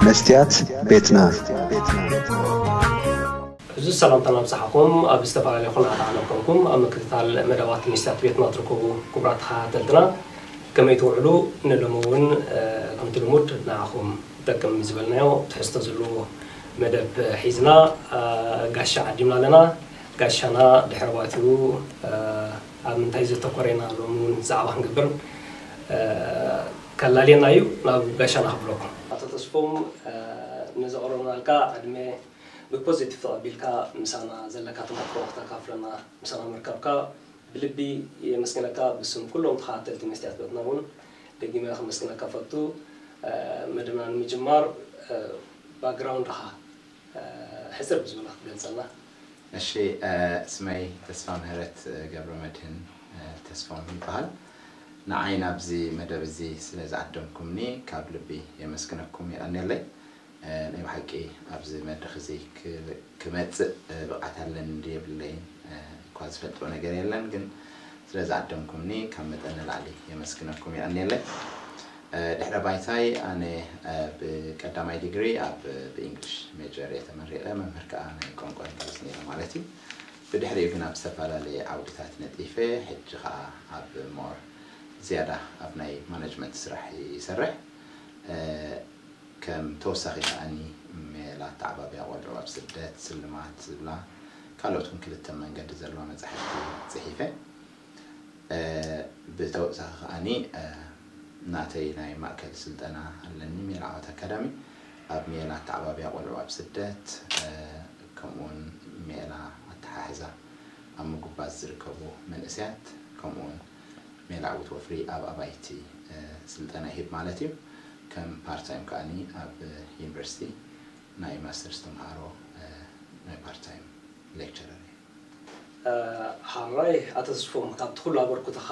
መስትያት ቤትና። እዚ ሰላምታ ናብዝሓኹም ኣብ ዝተፈላለየ ኩነታት ዓለም ኮንኩም ኣብ ምክትታል መደባት መስትያት ቤትና ትርከቡ ክቡራት ተኸታተልትና፣ ከመይ ትውዕሉ? ንሎሚ እውን ከምቲ ልሙድ ንዓኹም ይጠቅም ዝበልናዮ ትሕዝቶ ዘለዎ መደብ ሒዝና ጋሻ ዓዲምና ኣለና። ጋሻና ድሕሪ ባእቲኡ ኣብ ምንታይ ዘተኮረ ኢና ሎሚ እውን ዛዕባ ክንገብር ከላልየና እዩ። ናብ ጋሻና ክብለኩም። ኣቶ ተስፎም፣ ነዘቕረብናልካ ዕድመ ብፖዚቲቭ ተቐቢልካ ምሳና ዘለካ ተመክሮ ክተካፍለና ምሳና ምርካብካ ብልቢ የመስግነካ። ብስም ኩሎም ተኸታተልቲ መስትያት ቤትና እውን ደጊመ ከመስግነካ ፈቱ። መደብና ንምጅማር ባክግራውንድኻ ሕፅር ብዝበለ ክትገልፀልና። እሺ፣ ስመይ ተስፋ ምህረት ገብረ መድህን ተስፋም ይበሃል። ንዓይ ናብዚ መደብ እዚ ስለ ዝዓደምኩምኒ ካብ ልቢ የመስግነኩም፣ የቐንየለይ። ናይ ብሓቂ ኣብዚ መድረኽ እዚ ክመፅእ ብቕዓት ኣለኒ እንዲ የብለይን እኳ ዝፈልጦ ነገር የለን፣ ግን ስለ ዝዓደምኩምኒ ካብ መጠን ንላዕሊ የመስግነኩም፣ የቐንየለይ። ድሕረ ባይታይ ኣነ ብቀዳማይ ዲግሪ ኣብ ብእንግሊሽ ሜጀር እየ ተመሪቐ፣ መምህር ከዓ ናይ ቋንቋ እንግሊዝ ነይረ ማለት እዩ። ብድሕሪኡ ግን ኣብ ዝተፈላለየ ዓውድታት ነጢፈ፣ ሕጂ ከዓ ኣብ ሞር ዝያዳ ኣብ ናይ ማነጅመንት ስራሕ ይሰርሕ። ከም ተወሳኺ ከኣኒ ሜላ ኣተዓባብያ ቆልዑ ኣብ ስደት፣ ስልማት ዝብላ ካልኦት እውን ክልተ መንገዲ ዘለዋ መጻሕፍቲ ጽሒፈ። ብተወሳኺ ከኣኒ ናተይ ናይ ማእከል ስልጠና ኣለኒ፣ ሜላ ዓወት ኣካዳሚ፣ ኣብ ሜላ ኣተዓባብያ ቆልዑ ኣብ ስደት፣ ከምኡውን ሜላ ኣተሓሕዛ ኣብ ምጉባዝ ዝርከቡ መንእሰያት፣ ከምኡውን ሜላ ዕውት ወፍሪ ኣብ ኣባይቲ ስልጠና ይህብ ማለት እዩ። ከም ፓርታይም ከኣኒ ኣብ ዩኒቨርሲቲ ናይ ማስተርስ ተምሃሮ ናይ ፓርታይም ሌክቸረር እየ። ሓራይ ኣቶ ተስፎም፣ ካብቲ ኩሉ ኣበርክቶኻ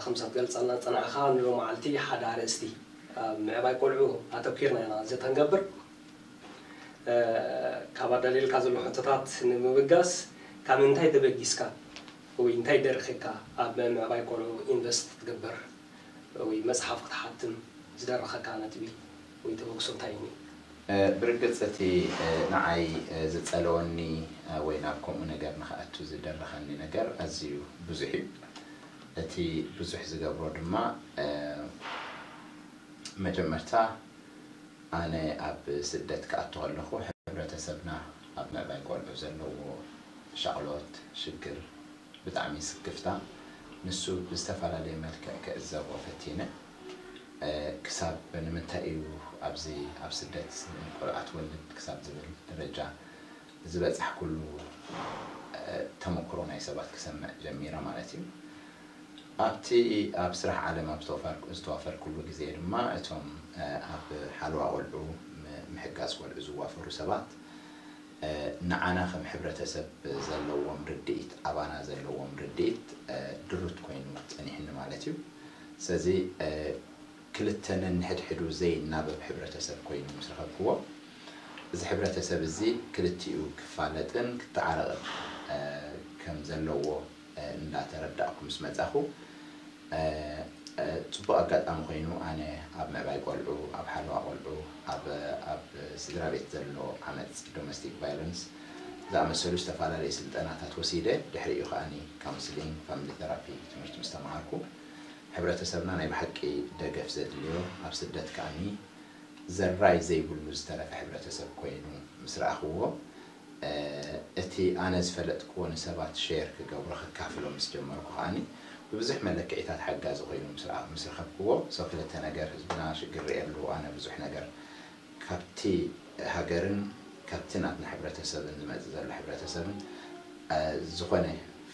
ከምሳ ትገልጸልና ጸናዕኻ ንሎ መዓልቲ ሓደ ኣርእስቲ ኣብ ምዕባይ ቆልዑ ኣተኪርና ኢና ዘተንገብር። ካብ ኣዳልየልካ ዘሎ ሕቶታት ንምብጋስ፣ ካብ እንታይ ተበጊስካ ወይ እንታይ ደርኺካ ኣብ ምዕባይ ቆልዑ ኢንቨስት ክትገብር ወይ መጽሓፍ ክትሓትም ዝደረኸካ ነጥቢ ወይ ተበግሶ እንታይ እዩ? ብርግጽ እቲ ንዓይ ዝጸለወኒ ወይ ናብ ከምኡ ነገር ንኽኣቱ ዝደረኸኒ ነገር ኣዝዩ ብዙሕ እዩ። እቲ ብዙሕ ዝገብሮ ድማ መጀመርታ ኣነ ኣብ ስደት ክኣቱ ከለኹ ሕብረተሰብና ኣብ ምዕባይ ቆልዑ ዘለዎ ሻቕሎት፣ ሽግር ብጣዕሚ ስክፍታ ንሱ ብዝተፈላለየ መልክዕ ክዕዘቦ ፈቲነ። ክሳብ ንምንታይ እዩ ኣብዚ ኣብ ስደት ቆልዓ ትወልድ ክሳብ ዝብል ደረጃ ዝበጻሕኩሉ ተመክሮ ናይ ሰባት ክሰምዕ ጀሚረ ማለት እዩ። ኣብቲ ኣብ ስራሕ ዓለም ኣብ ዝተዋፈርኩሉ ግዜ ድማ እቶም ኣብ ሓለዋ ቆልዑ ምሕጋዝ ቆልዑ ዝዋፈሩ ሰባት ንዓና ከም ሕብረተሰብ ዘለዎም ርድኢት ኣባና ዘለዎም ርድኢት ድሩት ኮይኑ ጸኒሕኒ ማለት እዩ። ስለዚ ክልተ ነንሕድሕዱ ዘይናበብ ሕብረተሰብ ኮይኑ ምስ ረኸብክዎ፣ እዚ ሕብረተሰብ እዚ ክልቲኡ ክፋለጥን ክተዓረቕን ከም ዘለዎ እንዳተረዳእኩ ምስ መጻኹ፣ ጽቡቕ ኣጋጣሚ ኮይኑ ኣነ ኣብ ምዕባይ ቆልዑ፣ ኣብ ሓለዋ ቆልዑ፣ ኣብ ኣብ ስድራ ቤት ዘሎ ዓመጽ፣ ዶሜስቲክ ቫዮለንስ፣ ዝኣመሰሉ ዝተፈላለዩ ስልጠናታት ወሲደ። ድሕሪኡ ከኣኒ ካውንስሊንግ፣ ፋሚሊ ቴራፒ ትምህርቲ ምስ ተምሃርኩ፣ ሕብረተሰብና ናይ ብሓቂ ደገፍ ዘድልዮ፣ ኣብ ስደት ከኣኒ ዘራይ ዘይብሉ ዝተረፈ ሕብረተሰብ ኮይኑ ምስ ረኣኽዎ፣ እቲ ኣነ ዝፈለጥክዎ ንሰባት ሼር ክገብሮ ከካፍሎ ምስ ጀመርኩ ከኣኒ ብብዙሕ መለክዒታት ሓጋዚ ኮይኑ ምስ ረኣ- ምስ ረኸብክዎ፣ ሰው ክልተ ነገር ህዝብና ሽግር ርእየሉ፣ ኣነ ብዙሕ ነገር ካብቲ ሃገርን ካብቲ ናትና ሕብረተሰብን ዝመጽእ ዘሎ ሕብረተሰብን ዝኾነ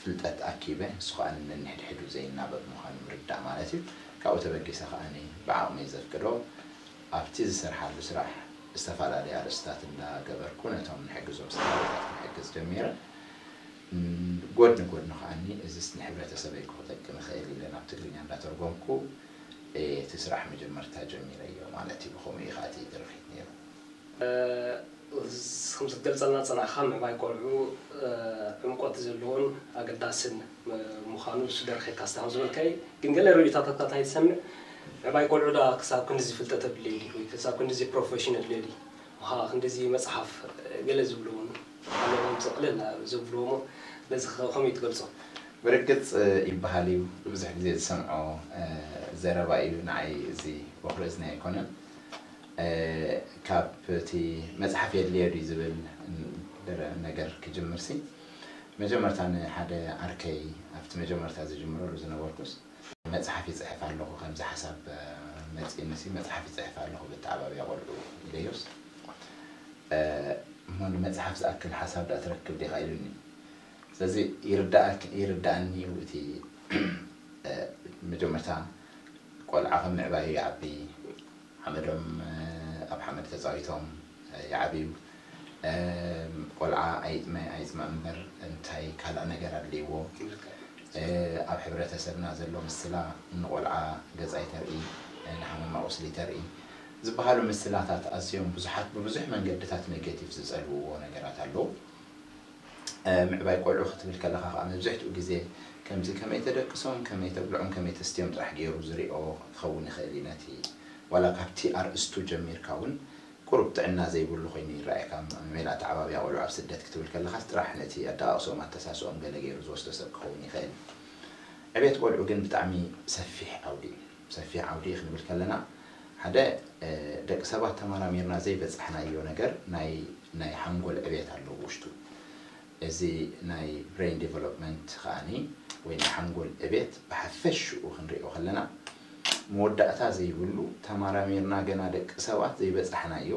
ፍልጠት ኣኪበ፣ ንሱ ከኣ ነንሕድሕዱ ዘይናበብ ምዃኑ ምርዳእ ማለት እዩ። ካብኡ ተበጊሰ ከኣ ብዓቕመይ ዘፍቅዶ ኣብቲ ዝሰርሓሉ ስራሕ ዝተፈላለዩ ኣርእስታት እንዳገበርኩ ነቶም ንሕግዞም ስድራቤታት ክሕግዝ ጀሚረ። ጎድኒ ጎድኑ ከኣ እዚስ ንሕብረተሰበይ ክጠቅም ይኽእል ኢለ ናብ ትግርኛ እንዳተርጎምኩ እቲ ስራሕ መጀመርታ ጀሚረዮ ማለት እዩ። ብኸምኡ እዩ ከኣ እቲ ድርኺት ነይሩ። ከምዚ ትገልጸልና ጸናሕካ ምዕባይ ቆልዑ ዕምቆት ዘለዎን ኣገዳስን ምዃኑ እሱ ደርኸካ ስታም ዝበልካይ ግን ገለ ርእይቶታት እንታይ ትሰምዕ? ምዕባይ ቆልዑ ደኣ ክሳብ ክንድዚ ፍልጠት ኣድልዮ ድዩ ወይ ክሳብ ክንድዚ ፕሮፌሽን ኣድልዮ ድዩ? ውሃ ክንድዚ መጽሓፍ፣ ገለ ዝብሉ እውን ኣለዎም፣ ጽቕልል ዝብልዎ እሞ ነዚ ከ-፣ ከመይ ትገልጾ? ብርግጽ ይበሃል እዩ፣ ብዙሕ ግዜ ዝሰምዖ ዘረባ እዩ። ንዓይ እዚ በኹሪ እዝኒ ኣይኮነን። ካብ እቲ መጽሓፍ የድልዮ ድዩ ዝብል ነገር ክጅምርሲ፣ መጀመርታ ንሓደ ዓርከይ ኣብቲ መጀመርታ ዝጅምረሉ ዝነበርኩስ፣ መጽሓፍ ይጽሕፍ ኣለኹ፣ ከምዚ ሓሳብ መጺእኒሲ መጽሓፍ ይጽሕፍ ኣለኹ ብተዓባብያ ቆልዑ ኢለዮስ፣ እሞ ንመጽሓፍ ዝኣክል ሓሳብ ደኣ ትረክብ ዲኻ ኢሉኒ። ስለዚ ይርዳእክ-፣ ይርዳእኒ እዩ እቲ መጀመርታ ቆልዓ ከም ምዕባዩ ይዓቢ፣ ሓመዶም ኣብ ሓመድ ተጻዊቶም ይዓብዩ። ቆልዓ ኣይጥመ ኣይጽመ እምበር እንታይ ካልእ ነገር ኣድልይዎ? ኣብ ሕብረተሰብና ዘሎ ምስላ ንቆልዓ ገጽ ኣይተርኢ፣ ንሓመማ ቁስሊ ተርኢ ዝበሃሉ ምስላታት ኣዝዮም ብዙሓት ብብዙሕ መንገድታት ኔጌቲቭ ዝጸልውዎ ነገራት ኣለዉ። ምዕባይ ቆልዑ ክትብል ከለኻ ከዓ መብዝሕትኡ ግዜ ከምዚ ከመይ ተደቅሶም፣ ከመይ ተብልዖም፣ ከመይ ተስትዮም ጥራሕ ገይሩ ዝሪኦ ክኸውን ይኽእል እዩ። ነቲ ዋላ ካብቲ ኣርእስቱ ጀሚርካ እውን ቁሩብ ጥዕና ዘይብሉ ኮይኑ ይረኣየካ። ሜላ ኣተዓባብያ ቆልዑ ኣብ ስደት ክትብል ከለኻስ ጥራሕ ነቲ ኣደቃቕስኦም ኣተሳስኦም ገለ ገይሩ ዝወስዶ ሰብ ክኸውን ይኽእል። ዕቤት ቆልዑ ግን ብጣዕሚ ሰፊሕ ዓውዲ እዩ። ሰፊሕ ዓውዲ እዩ ክንብል ከለና ሓደ ደቂ ሰባት ተመራሚርና ዘይበጻሕናዮ ነገር ናይ ናይ ሓንጎል ዕቤት ኣሎ ውሽጡ። እዚ ናይ ብሬን ዲቨሎፕመንት ከኣኒ ወይ ናይ ሓንጎል ዕቤት ብሓፈሽኡ ክንሪኦ ከለና መወዳእታ ዘይብሉ ተመራሚርና ገና ደቂ ሰባት ዘይበጻሕናዮ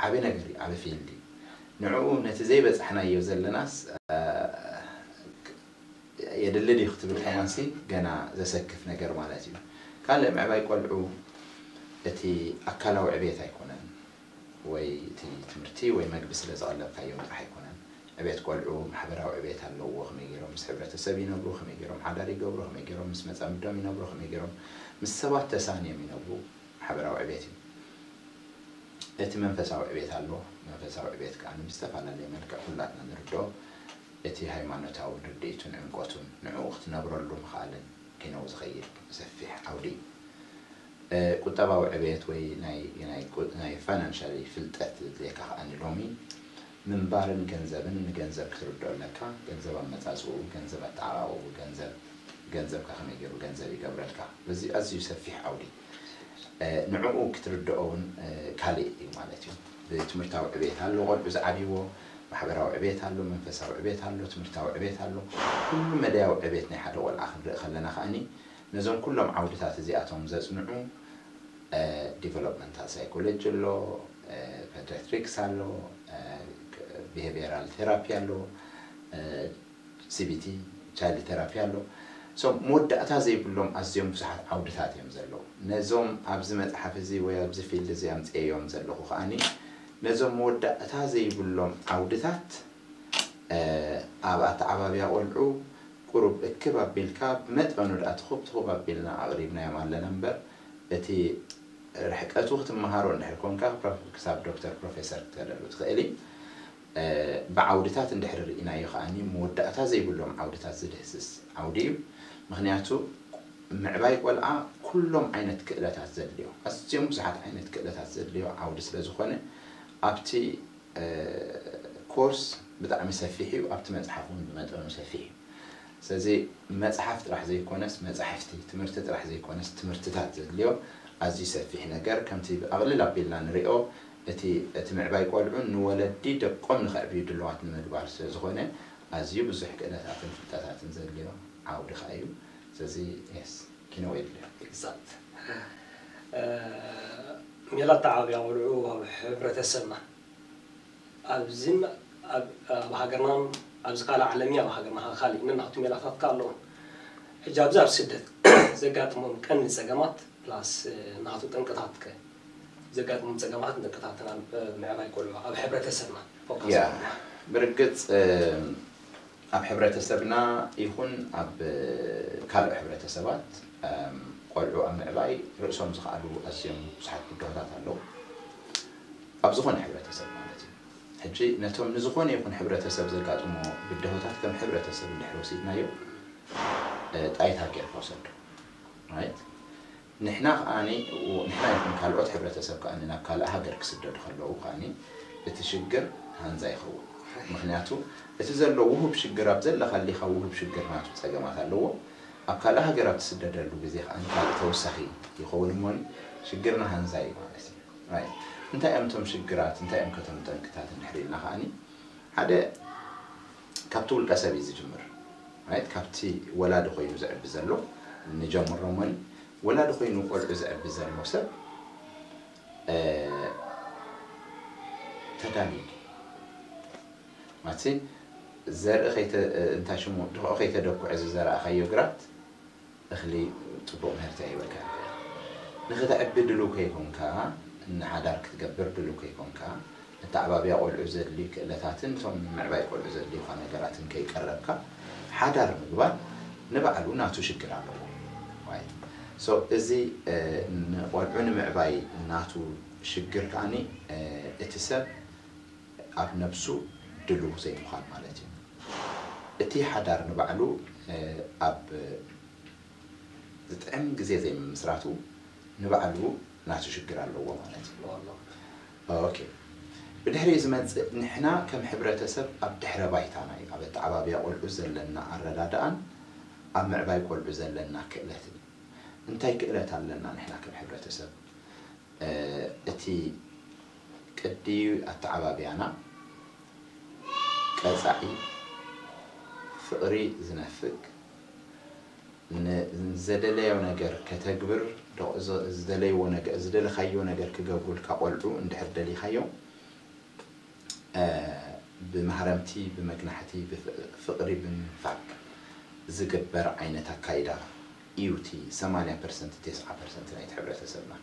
ዓቢ ነገር እዩ፣ ዓቢ ፊልድ እዩ። ንዕኡ ነቲ ዘይበጻሕናዮ ዘለናስ የድሊ ድዩ ክትብል ከማንሲ ገና ዘሰክፍ ነገር ማለት እዩ። ካልእ ምዕባይ ቆልዑ እቲ ኣካላዊ ዕቤት ኣይኮነን ወይ እቲ ትምህርቲ ወይ መግቢ ስለ ዘቐለብካዮም ጥራሕ ኣይኮነን። ዕቤት ቆልዑ ማሕበራዊ ዕቤት ኣለዎ። ከመይ ገይሮም ምስ ሕብረተሰብ ይነብሩ፣ ከመይ ገይሮም ሓዳር ይገብሩ፣ ከመይ ገይሮም ምስ መጻምዶም ይነብሩ፣ ከመይ ገይሮም ምስ ሰባት ተሳንዮም ይነብሩ ማሕበራዊ ዕቤት እዩ። እቲ መንፈሳዊ ዕቤት ኣሎ። መንፈሳዊ ዕቤት ከኣ ብዝተፈላለየ መልክዕ ኩላትና ንርድኦ። እቲ ሃይማኖታዊ ርድኢቱን ዕምቆቱን ንዕኡ ክትነብረሉ ምኽኣልን ኪነው ዝኸይድ ሰፊሕ ዓውዲ እዩ። ቁጠባዊ ዕቤት ወይ ናይ ናይ ቁ-፣ ናይ ፋይናንሻሊ ፍልጠት ዘድልየካ ከኣ ሎሚ ምንባርን ገንዘብን ንገንዘብ ክትርድኦ ኣለካ። ገንዘብ ኣመጻጽኡ፣ ገንዘብ ኣተዓባብኡ፣ ገንዘብ ገንዘብካ ከመይ ገይሩ ገንዘብ ይገብረልካ። እዚ ኣዝዩ ሰፊሕ ዓውዲ እዩ። ንዕኡ ክትርድኦ እውን ካልእ እዩ ማለት እዩ። ብትምህርታዊ ዕቤት ኣሎ፣ ቆልዑ ዝዓብይዎ፣ ማሕበራዊ ዕቤት ኣሎ፣ መንፈሳዊ ዕቤት ኣሎ፣ ትምህርታዊ ዕቤት ኣሎ። ኩሉ መዳያዊ ዕቤት ናይ ሓደ ቆልዓ ክንርኢ ከለና ከኣኒ ነዞም ኩሎም ዓውድታት እዚኣቶም ዘጽንዑ ዲቨሎፕመንታል ሳይኮሎጂ ኣሎ፣ ፔዲያትሪክስ ኣሎ፣ ቢሄቪራል ቴራፒ ኣሎ፣ ሲቢቲ ቻይልድ ቴራፒ ኣሎ። ሶ መወዳእታ ዘይብሎም ኣዝዮም ብዙሓት ዓውድታት እዮም ዘለዉ። ነዞም ኣብዚ መጽሓፍ እዚ ወይ ኣብዚ ፊልድ እዚ ኣምጽኤዮም ዘለኹ ከኣኒ ነዞም መወዳእታ ዘይብሎም ዓውድታት ኣብ ኣተዓባብያ ቆልዑ ቁሩብ እክብ ኣቢልካ ብመጠኑ ደኣ ትኹብ ትኹብ ኣቢልና ኣቕሪብናዮም ኣለና እምበር እቲ ርሕቀቱ ክትመሃሮ እንድሕር ኮንካ ክሳብ ዶክተር ፕሮፌሰር ክትከደሉ ትኽእል እዩ። ብዓውድታት እንድሕር ርኢናዮ ከኣኒ መወዳእታ ዘይብሎም ዓውድታት ዝድህስስ ዓውዲ እዩ። ምኽንያቱ ምዕባይ ቆልዓ ኩሎም ዓይነት ክእለታት ዘድልዮ፣ ኣዝዮም ብዙሓት ዓይነት ክእለታት ዘድልዮ ዓውዲ ስለ ዝኾነ ኣብቲ ኮርስ ብጣዕሚ ሰፊሕ እዩ፣ ኣብቲ መጽሓፍ እውን ብመጠኑ ሰፊሕ እዩ። ስለዚ መጽሓፍ ጥራሕ ዘይኮነስ መጻሕፍቲ፣ ትምህርቲ ጥራሕ ዘይኮነስ ትምህርትታት ዘድልዮ ኣዝዩ ሰፊሕ ነገር፣ ከምቲ ኣቕልል ኣቢልና ንሪኦ እቲ እቲ ምዕባይ ቆልዑ ንወለዲ ደቆም ንኸዕብዩ ድልዋት ንምግባር ስለ ዝኾነ ኣዝዩ ብዙሕ ክእለታትን ፍልጠታትን ዘድልዮ ዓውዲ ከኣ እዩ። ስለዚ የስ ኪነው የድልዮ። ኤግዛክት ሜላ ኣተዓባብያ ቆልዑ ኣብ ሕብረተሰብና ኣብዚን ኣብ ኣብ ሃገርናን ኣብዚ ካልእ ዓለምኒ ኣብ ሃገርና ከኣ ካልእ ነናቱ ሜላታት ከኣ ኣለዎም። ሕጂ ኣብዚ ኣብ ስደት ዘጋጥሞም ቀንዲ ጸገማት ፕላስ ናቱ ጠንቅታት ከ ዘጋጥሞም ጸገማትን ጠንቅታትን ኣብ ምዕባይ ቆልዑ ኣብ ሕብረተሰብና ፎከስ ያ ብርግጽ ኣብ ሕብረተሰብና ይኹን ኣብ ካልእ ሕብረተሰባት ቆልዑ ኣብ ምዕባይ ርእሶም ዝኸኣሉ ኣዝዮም ብዙሓት ብድሆታት ኣለዉ። ኣብ ዝኾነ ሕብረተሰብ ማለት እዩ። ሕጂ ነቶም ንዝኾነ ይኹን ሕብረተሰብ ዘጋጥሞ ብድሆታት ከም ሕብረተሰብ እንድሕር ወሲድናዮ ጣይታ ጌርካ ውሰዶ። ራይት? ንሕና ከኣኒ ንሕና ይኹን ካልኦት ሕብረተሰብ ከኣኒ ናብ ካልእ ሃገር ክስደዱ ከለዉ ከኣኒ እቲ ሽግር ሃንዛ ይኸውን። ምክንያቱ እቲ ዘሎ ውሁብ ሽግር ኣብ ዘለኻሊኻ ውሁብ ሽግር ናቱ ጸገማት ኣለዎ። ኣብ ካልእ ሃገር ኣብ ትስደደሉ ግዜ ከኣኒ ካልእ ተወሳኺ ይኸውን እሞኒ ሽግርና ሃንዛ እዩ ማለት እዩ። እንታይ እዮም እቶም ሽግራት እንታይ እዮም ከቶም ጠንቅታት እንድሕር ኢልና ከኣኒ ሓደ ካብቲ ውልቀ ሰብ እዩ ዝጅምር። ራይት ካብቲ ወላዲ ኮይኑ ዝዕቢ ዘሎ ንጀምሮ እሞኒ ወላዲ ኮይኑ ቆልዑ ዘዕቢ ዘሎ ሰብ ተዳልዩ ማለት ዘርኢ እንታይ ሽሙ ድኽኦ ከይተደኩዐ ዝዘራእካዮ ግራት እኽሊ ፅቡቕ ምህርቲ ኣይበካ ንክተዕቢ ድሉ ከይኮንካ ንሓዳር ክትገብር ድሉ ከይኮንካ መተዓባብያ ቆልዑ ዘድልዩ ክእለታትን እቶም ንምዕባይ ቆልዑ ዘድልዩካ ነገራትን ከይቀረብካ ሓዳር ምግባር ንባዕሉ ናቱ ሽግር ኣለዎ። እዚ ንቆልዑ ንምዕባይ ናቱ ሽግር ከዓኒ እቲ ሰብ ኣብ ነብሱ ድሉው ዘይምዃን ማለት እዩ። እቲ ሓዳር ንባዕሉ ኣብ ዝጥዕም ግዜ ዘይምምስራቱ ንባዕሉ ናቱ ሽግር ኣለዎ ማለት እዩ። ኦኬ ብድሕሪኡ ዝመፅእ ንሕና ከም ሕብረተሰብ ኣብ ድሕረ ባይታና እዩ ኣብ ኣተዓባብያ ቆልዑ ዘለና ኣረዳድኣን ኣብ ምዕባይ ቆልዑ ዘለና ክእለትን እንታይ ክእለት ኣለና ንሕና ከም ሕብረተሰብ እቲ ቅዲ ኣተዓባብያና ቀፃዒ ፍቕሪ ዝነፍግ ንዘደለዮ ነገር ከተግብር ዝደለይዎ ነገር ዝደለኻዮ ነገር ክገብሩልካ ቆልዑ እንድሕር ደሊኻዮም ብማህረምቲ ብመግናሕቲ ብፍቕሪ ብምንፋግ ዝግበር ዓይነት ኣካይዳ እዩ እቲ ሰማንያ ፐርሰንት ተስዓ ፐርሰንት ናይቲ ሕብረተሰብና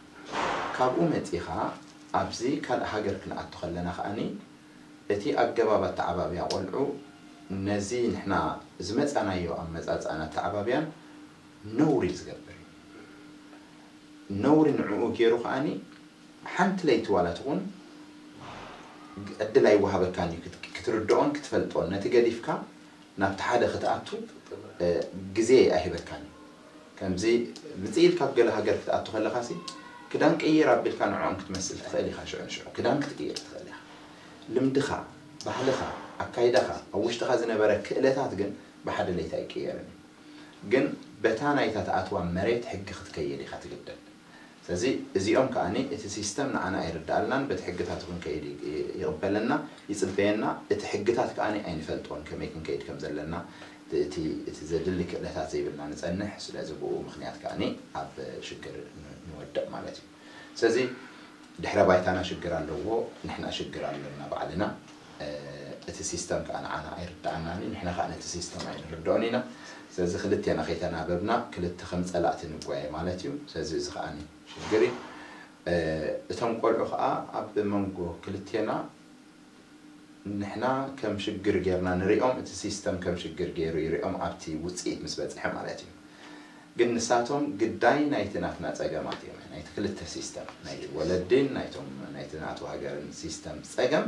ካብኡ መፂኻ ኣብዚ ካልእ ሃገር ክንኣቱ ከለና ከዓኒ እቲ ኣገባብ ኣተዓባብያ ቆልዑ ነዚ ንሕና ዝመፃናዮ ኣመፃፅኣን ኣተዓባብያን ነውሪ ዝገብር እዩ። ነውሪ ንዕኡ ገይሩ ከዓኒ ሓንቲ ለይቲ ዋላ ትኹን ዕድል ኣይወሃበካን እዩ ክትርድኦን ክትፈልጦን ነቲ ገዲፍካ ናብቲ ሓደ ክትኣቱ ግዜ ኣይህበካን እዩ። ከምዚ ምፅእ ኢልካ ኣብ ገለ ሃገር ክትኣቱ ከለኻሲ ክዳን ቅይር ኣቢልካ ንዕኦም ክትመስል ትኽእል ኢኻ። ሽዑ ንሽዑ ክዳን ክትቅይር ትኽእል ኢኻ። ልምድኻ፣ ባህልኻ፣ ኣካይዳኻ፣ ኣብ ውሽጥኻ ዝነበረ ክእለታት ግን ብሓደ ለይቲ ኣይቅየርን እዩ። ግን በታ ናይታ ትኣትዋ መሬት ሕጊ ክትከይድ ኢኻ ትግደድ። ስለዚ እዚኦም ከዓኒ እቲ ሲስተም ንዓና ኣይርድኣልናን በቲ ሕግታት እውን ከይድ ይቕበለና ይፅበየና እቲ ሕግታት ከዓኒ ኣይንፈልጦን ከመይ ክንከይድ ከም ዘለና እቲ ዘድሊ ክእለታት ዘይብልና ንፀንሕ ስለዚ ብኡ ምክንያት ከዓኒ ኣብ ሽግር ንወድቕ ማለት እዩ። ስለዚ ድሕረ ባይታና ሽግር ኣለዎ ንሕና ሽግር ኣለና ባዕልና እቲ ሲስተም ከዓ ንዓና ኣይርድኣናን እዩ ንሕና ከዓ ነቲ ሲስተም ኣይንርድኦን ኢና። ስለዚ ክልቴና ከይተናበብና ክልተ ከም ፀላእቲ ንጓየ ማለት እዩ። ስለዚ እዚ ከዓ ሽግር እዩ። እቶም ቆልዑ ከዓ ኣብ መንጎ ክልቴና ንሕና ከም ሽግር ጌርና ንሪኦም እቲ ሲስተም ከም ሽግር ገይሩ ይሪኦም ኣብቲ ውፅኢት ምስ በፅሐ ማለት እዩ። ግን ንሳቶም ግዳይ ናይቲ ናትና ፀገማት እዮም ናይቲ ክልተ ሲስተም ናይቲ ወለድን ናይቶም ናይቲ ናቱ ሃገርን ሲስተም ፀገም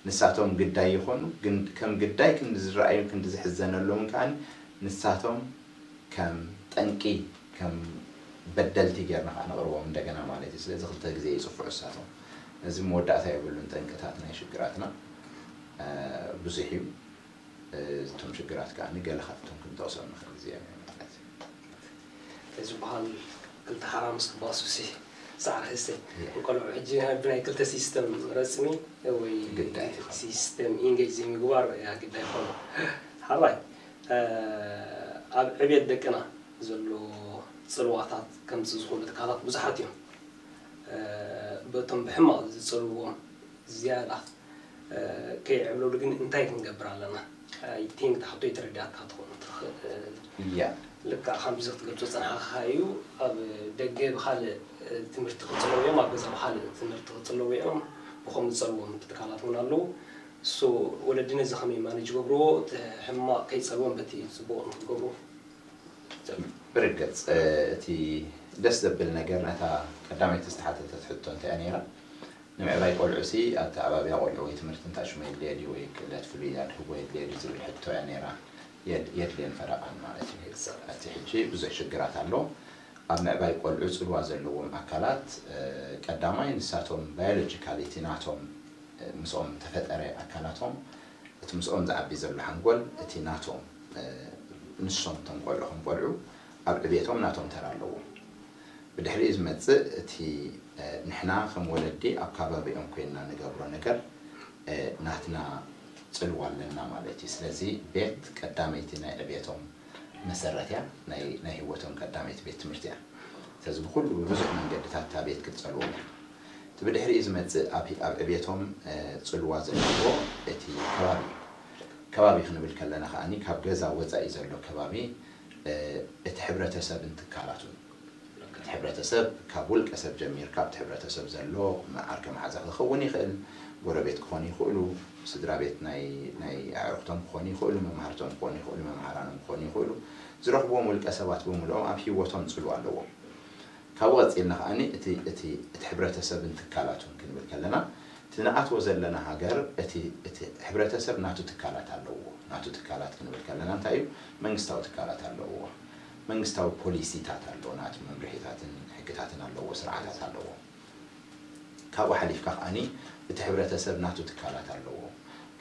ንሳቶም ግዳይ ይኾኑ ግን ከም ግዳይ ክንዲ ዝረኣዩ ክንዲ ዝሕዘነሎም ከዓኒ ንሳቶም ከም ጠንቂ ከም በደልቲ ጌርና ከዓ ነቕርቦም እንደገና ማለት እዩ። ስለዚ ክልተ ግዜ ይፅፍዑ እሳቶም እዚ መወዳእታ የብሉን ጠንቅታት ናይ ሽግራትና ብዙሕ እዩ። እቶም ሽግራት ከዓ ገለ ካብቶም ክንጠቕሶም ንኽእል ግዜ ማለት እዩ። ዝበሃል ክልተ ሓራ ምስ ክባሱሲ ሳዕሪ ህሰ ቆልዑ ሕጂ ብናይ ክልተ ሲስተም ረፅሚ ወይ ሲስተም ኢንጌጅ ዘይምግባር እያ ግዳይ ይኾኑ ሓራይ ኣብ ዕብየት ደቅና ዘሎ ፅልዋታት ከምፂ ዝኽእሉ ትካላት ብዙሓት እዮም። በቶም ብሕማቕ ዝፀልዎም ዝያዳ ከይዕብለሉ ግን እንታይ ክንገብር ኣለና? I think እታ ሕቶ ኣይተረዳእካ ትኸውን ትኽእል። ልክዕ ከምዚ ክትገልጾ ዝጸናሕካ እዩ። ኣብ ደገ ብኻልእ ትምህርቲ ክጽለዉ እዮም፣ ኣብ ገዛ ብኻልእ ትምህርቲ ክጽለዉ እዮም። ብኸምኡ ዝጸልዎም ትካላት እውን ኣለዉ። እሱ ወለዲ ነዚ ከመይ ማኔጅ ይገብርዎ? እቲ ሕማቕ ከይጸልዎም በቲ ጽቡቕ ንክገብሩ ብርግጽ እቲ ደስ ዘብል ነገር ነታ ቀዳመይቲ ዝተሓተተት ሕቶ እንታይ እያ ነይራ? ንምዕባይ ቆልዑ ሲ ኣተዓባብያ ቆልዑ ወይ ትምህርቲ እንታይ ሽሙ የድልየ ድዩ ወይ ክእለት ፍሉይ ኣድህቦ የድልየ ድዩ ዝብል ሕቶ እያ ነይራ። የድልየን ፈረቓን ማለት እዩ። እቲ ሕጂ ብዙሕ ሽግራት ኣሎ። ኣብ ምዕባይ ቆልዑ ጽልዋ ዘለዎም ኣካላት ቀዳማይ ንሳቶም ባዮሎጂካሊ እቲ ናቶም ምስኦም ተፈጠረ ኣካላቶም እቲ ምስኦም ዝዓቢ ዘሎ ሓንጎል እቲ ናቶም ንሶም እቶም ቆልዑ ከም ቆልዑ ኣብ ዕቤቶም ናቶም ተራ ኣለዎም። ብድሕሪኡ ዝመጽእ እቲ ንሕና ከም ወለዲ ኣብ ከባቢኦም ኮይንና ንገብሮ ነገር ናትና ጽልዋ ኣለና ማለት እዩ። ስለዚ ቤት ቀዳመይቲ ናይ ዕቤቶም መሰረት እያ፣ ናይ ህይወቶም ቀዳመይቲ ቤት ትምህርቲ እያ። ስለዚ ብኩሉ ብብዙሕ መንገድታት እታ ቤት ክትጸልዎም እያ። እቲ ብድሕሪኡ ዝመጽእ ኣብ ዕቤቶም ጽልዋ ዘለዎ እቲ ከባቢ እዩ። ከባቢ ክንብል ከለና ከዓኒ ካብ ገዛ ወጻኢ ዘሎ ከባቢ እቲ ሕብረተሰብን ትካላቱን እቲ ሕብረተሰብ ካብ ውልቀ ሰብ ጀሚርካ ኣብቲ ሕብረተሰብ ዘሎ ዓርከ መሓዛ ክኸውን ይኽእል፣ ጎረቤት ክኾኑ ይኽእሉ፣ ስድራ ቤት ናይ ናይ ኣዕሩኽቶም ክኾኑ ይኽእሉ፣ መማህርቶም ክኾኑ ይኽእሉ፣ መምሃራኖም ክኾኑ ይኽእሉ። ዝረኽብዎም ውልቀ ሰባት ብምልኦም ኣብ ህይወቶም ጽልዋ ኣለዎም። ካብኡ ቀጺልና ከዓኒ እቲ እቲ እቲ ሕብረተሰብን ትካላቱን ክንብል ከለና እቲ ንኣትዎ ዘለና ሃገር እቲ እቲ ሕብረተሰብ ናቱ ትካላት ኣለዎ። ናቱ ትካላት ክንብል ከለና እንታይ እዩ? መንግስታዊ ትካላት ኣለዎ። መንግስታዊ ፖሊሲታት ኣለዎ። ናቱ መምርሒታትን ሕግታትን ኣለዎ። ስርዓታት ኣለዎ። ካብኡ ሓሊፍካ ከዓኒ እቲ ሕብረተሰብ ናቱ ትካላት ኣለዎ።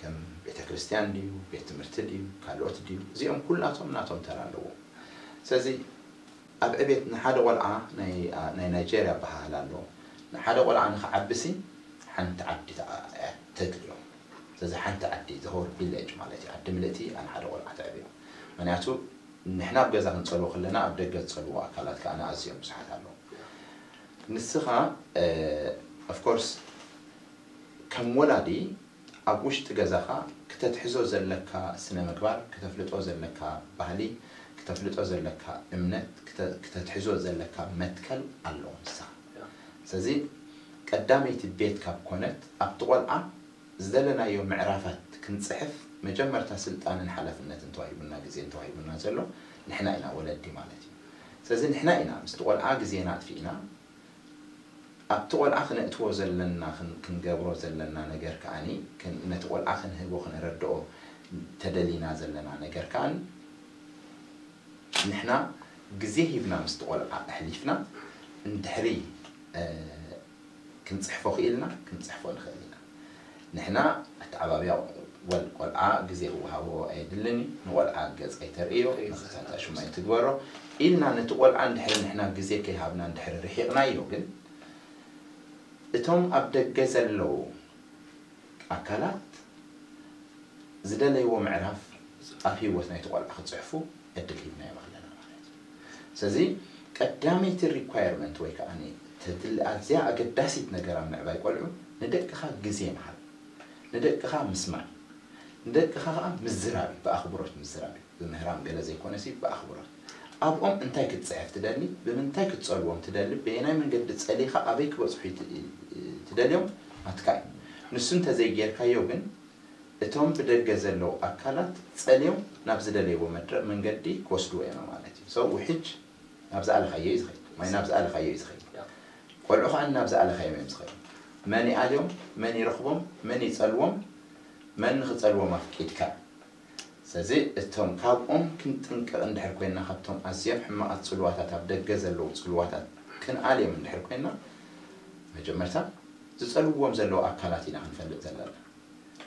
ከም ቤተ ክርስቲያን ድዩ፣ ቤት ትምህርቲ ድዩ፣ ካልኦት ድዩ፣ እዚኦም ኩላቶም ናቶም ተራ ኣለዎ። ስለዚ ኣብ ዕቤት ንሓደ ቆልዓ ናይ ናይ ናይጀርያ ኣበሃህላ ኣሎ። ንሓደ ቆልዓ ንክዓብሲ ሓንቲ ዓዲ ተድልዮ። ስለዚ ሓንቲ ዓዲ the whole village ማለት እዩ። ዓዲ ምልእቲ ንሓደ ቆልዓ ተዕብዮ። ምክንያቱ ንሕና ኣብ ገዛ ክንጸልዎ ከለና ኣብ ደገ ዝጸልዎ ኣካላት ከዓ ኣዝዮም ብዙሓት ኣለዉ። ንስኻ of course ከም ወላዲ ኣብ ውሽጢ ገዛኻ ክተትሕዞ ዘለካ ስነ ምግባር፣ ክተፍልጦ ዘለካ ባህሊ፣ ክተፍልጦ ዘለካ እምነት፣ ክተትሕዞ ዘለካ መትከል ኣሎ ንስኻ። ስለዚ ቀዳመይቲ ቤት ካብ ኮነት ኣብቲ ቆልዓ ዝደለናዮ ምዕራፋት ክንጽሕፍ መጀመርታ ስልጣንን ሓላፍነትን ተዋሂቡና ግዜን ተዋሂቡና ዘሎ ንሕና ኢና ወለዲ ማለት እዩ። ስለዚ ንሕና ኢና ምስቲ ቆልዓ ግዜና ኣጥፊእና ኣብቲ ቆልዓ ክነእትዎ ዘለና ክንገብሮ ዘለና ነገር ከዓኒ ነቲ ቆልዓ ክንህቦ ክነረድኦ ተደሊና ዘለና ነገር ከዓኒ ንሕና ግዜ ሂብና ምስቲ ቆልዓ ኣሕሊፍና እንድሕሪ ክንፅሕፎ ክኢልና ክንፅሕፎ ንኽእል ኢና። ንሕና ኣተዓባብያ ወል ቆልዓ ግዜ ክወሃቦ ኣየድልን እዩ። ንቆልዓ ገፅ ኣይተርእዮ፣ ንኽሳታ ሽሙ ኣይትግበሮ ኢልና ነቲ ቆልዓ እንድሕሪ ንሕና ግዜ ከይሃብና እንድሕሪ ርሒቕናዮ ግን እቶም ኣብ ደገ ዘለዉ ኣካላት ዝደለይዎ ምዕራፍ ኣብ ህይወት ናይቲ ቆልዓ ክፅሕፉ ዕድል ሂብናዮም ኣለና ማለት እዩ። ስለዚ ቀዳመይቲ ሪኳየርመንት ወይ ከዓ ተድሊ ኣዝያ ኣገዳሲት ነገር ኣብ ምዕባይ ቆልዑ ንደቅኻ ግዜ ምሃብ፣ ንደቅኻ ምስማዕ፣ ንደቅኻ ከዓ ምዝራብ እዩ፣ ብኣኽብሮት ምዝራብ እዩ። ብምህራም ገለ ዘይኮነሲ ብኣኽብሮት ኣብኦም እንታይ ክትፅሕፍ ትደሊ፣ ብምንታይ ክትፀልዎም ትደሊ፣ በየናይ መንገዲ ፀሊኻ ኣበይ ክበፅሑ ትደልዮም ኣትካ እዩ። ንሱ እንተዘይጌርካዮ ግን እቶም ብደገ ዘለዉ ኣካላት ፀልዮም ናብ ዝደለይዎ መድረ መንገዲ ክወስድዎ እዮም ማለት እዩ። ሰው ውሕጅ ናብ ዝኣለኻዮ እዩ ዝኸይድ፣ ማይ ናብ ዝኣለኻዮ እዩ ዝኸይድ፣ ቆልዑ ከዓ ናብ ዝኣለኻዮም እዮም ዝኸይድ። መን ይኣልዮም፣ መን ይረኽቦም፣ መን ይፀልዎም፣ መን ንኽፀልዎም ኣፍቂድካ። ስለዚ እቶም ካብኦም ክንጥንቀቕ እንድሕር ኮይንና ካብቶም ኣዝዮም ሕማቓት ፅልዋታት ኣብ ደገ ዘለዉ ፅልዋታት ክንኣልዮም እንድሕር ኮይንና መጀመርታ ዝፀልውዎም ዘለዉ ኣካላት ኢና ክንፈልጥ ዘለና።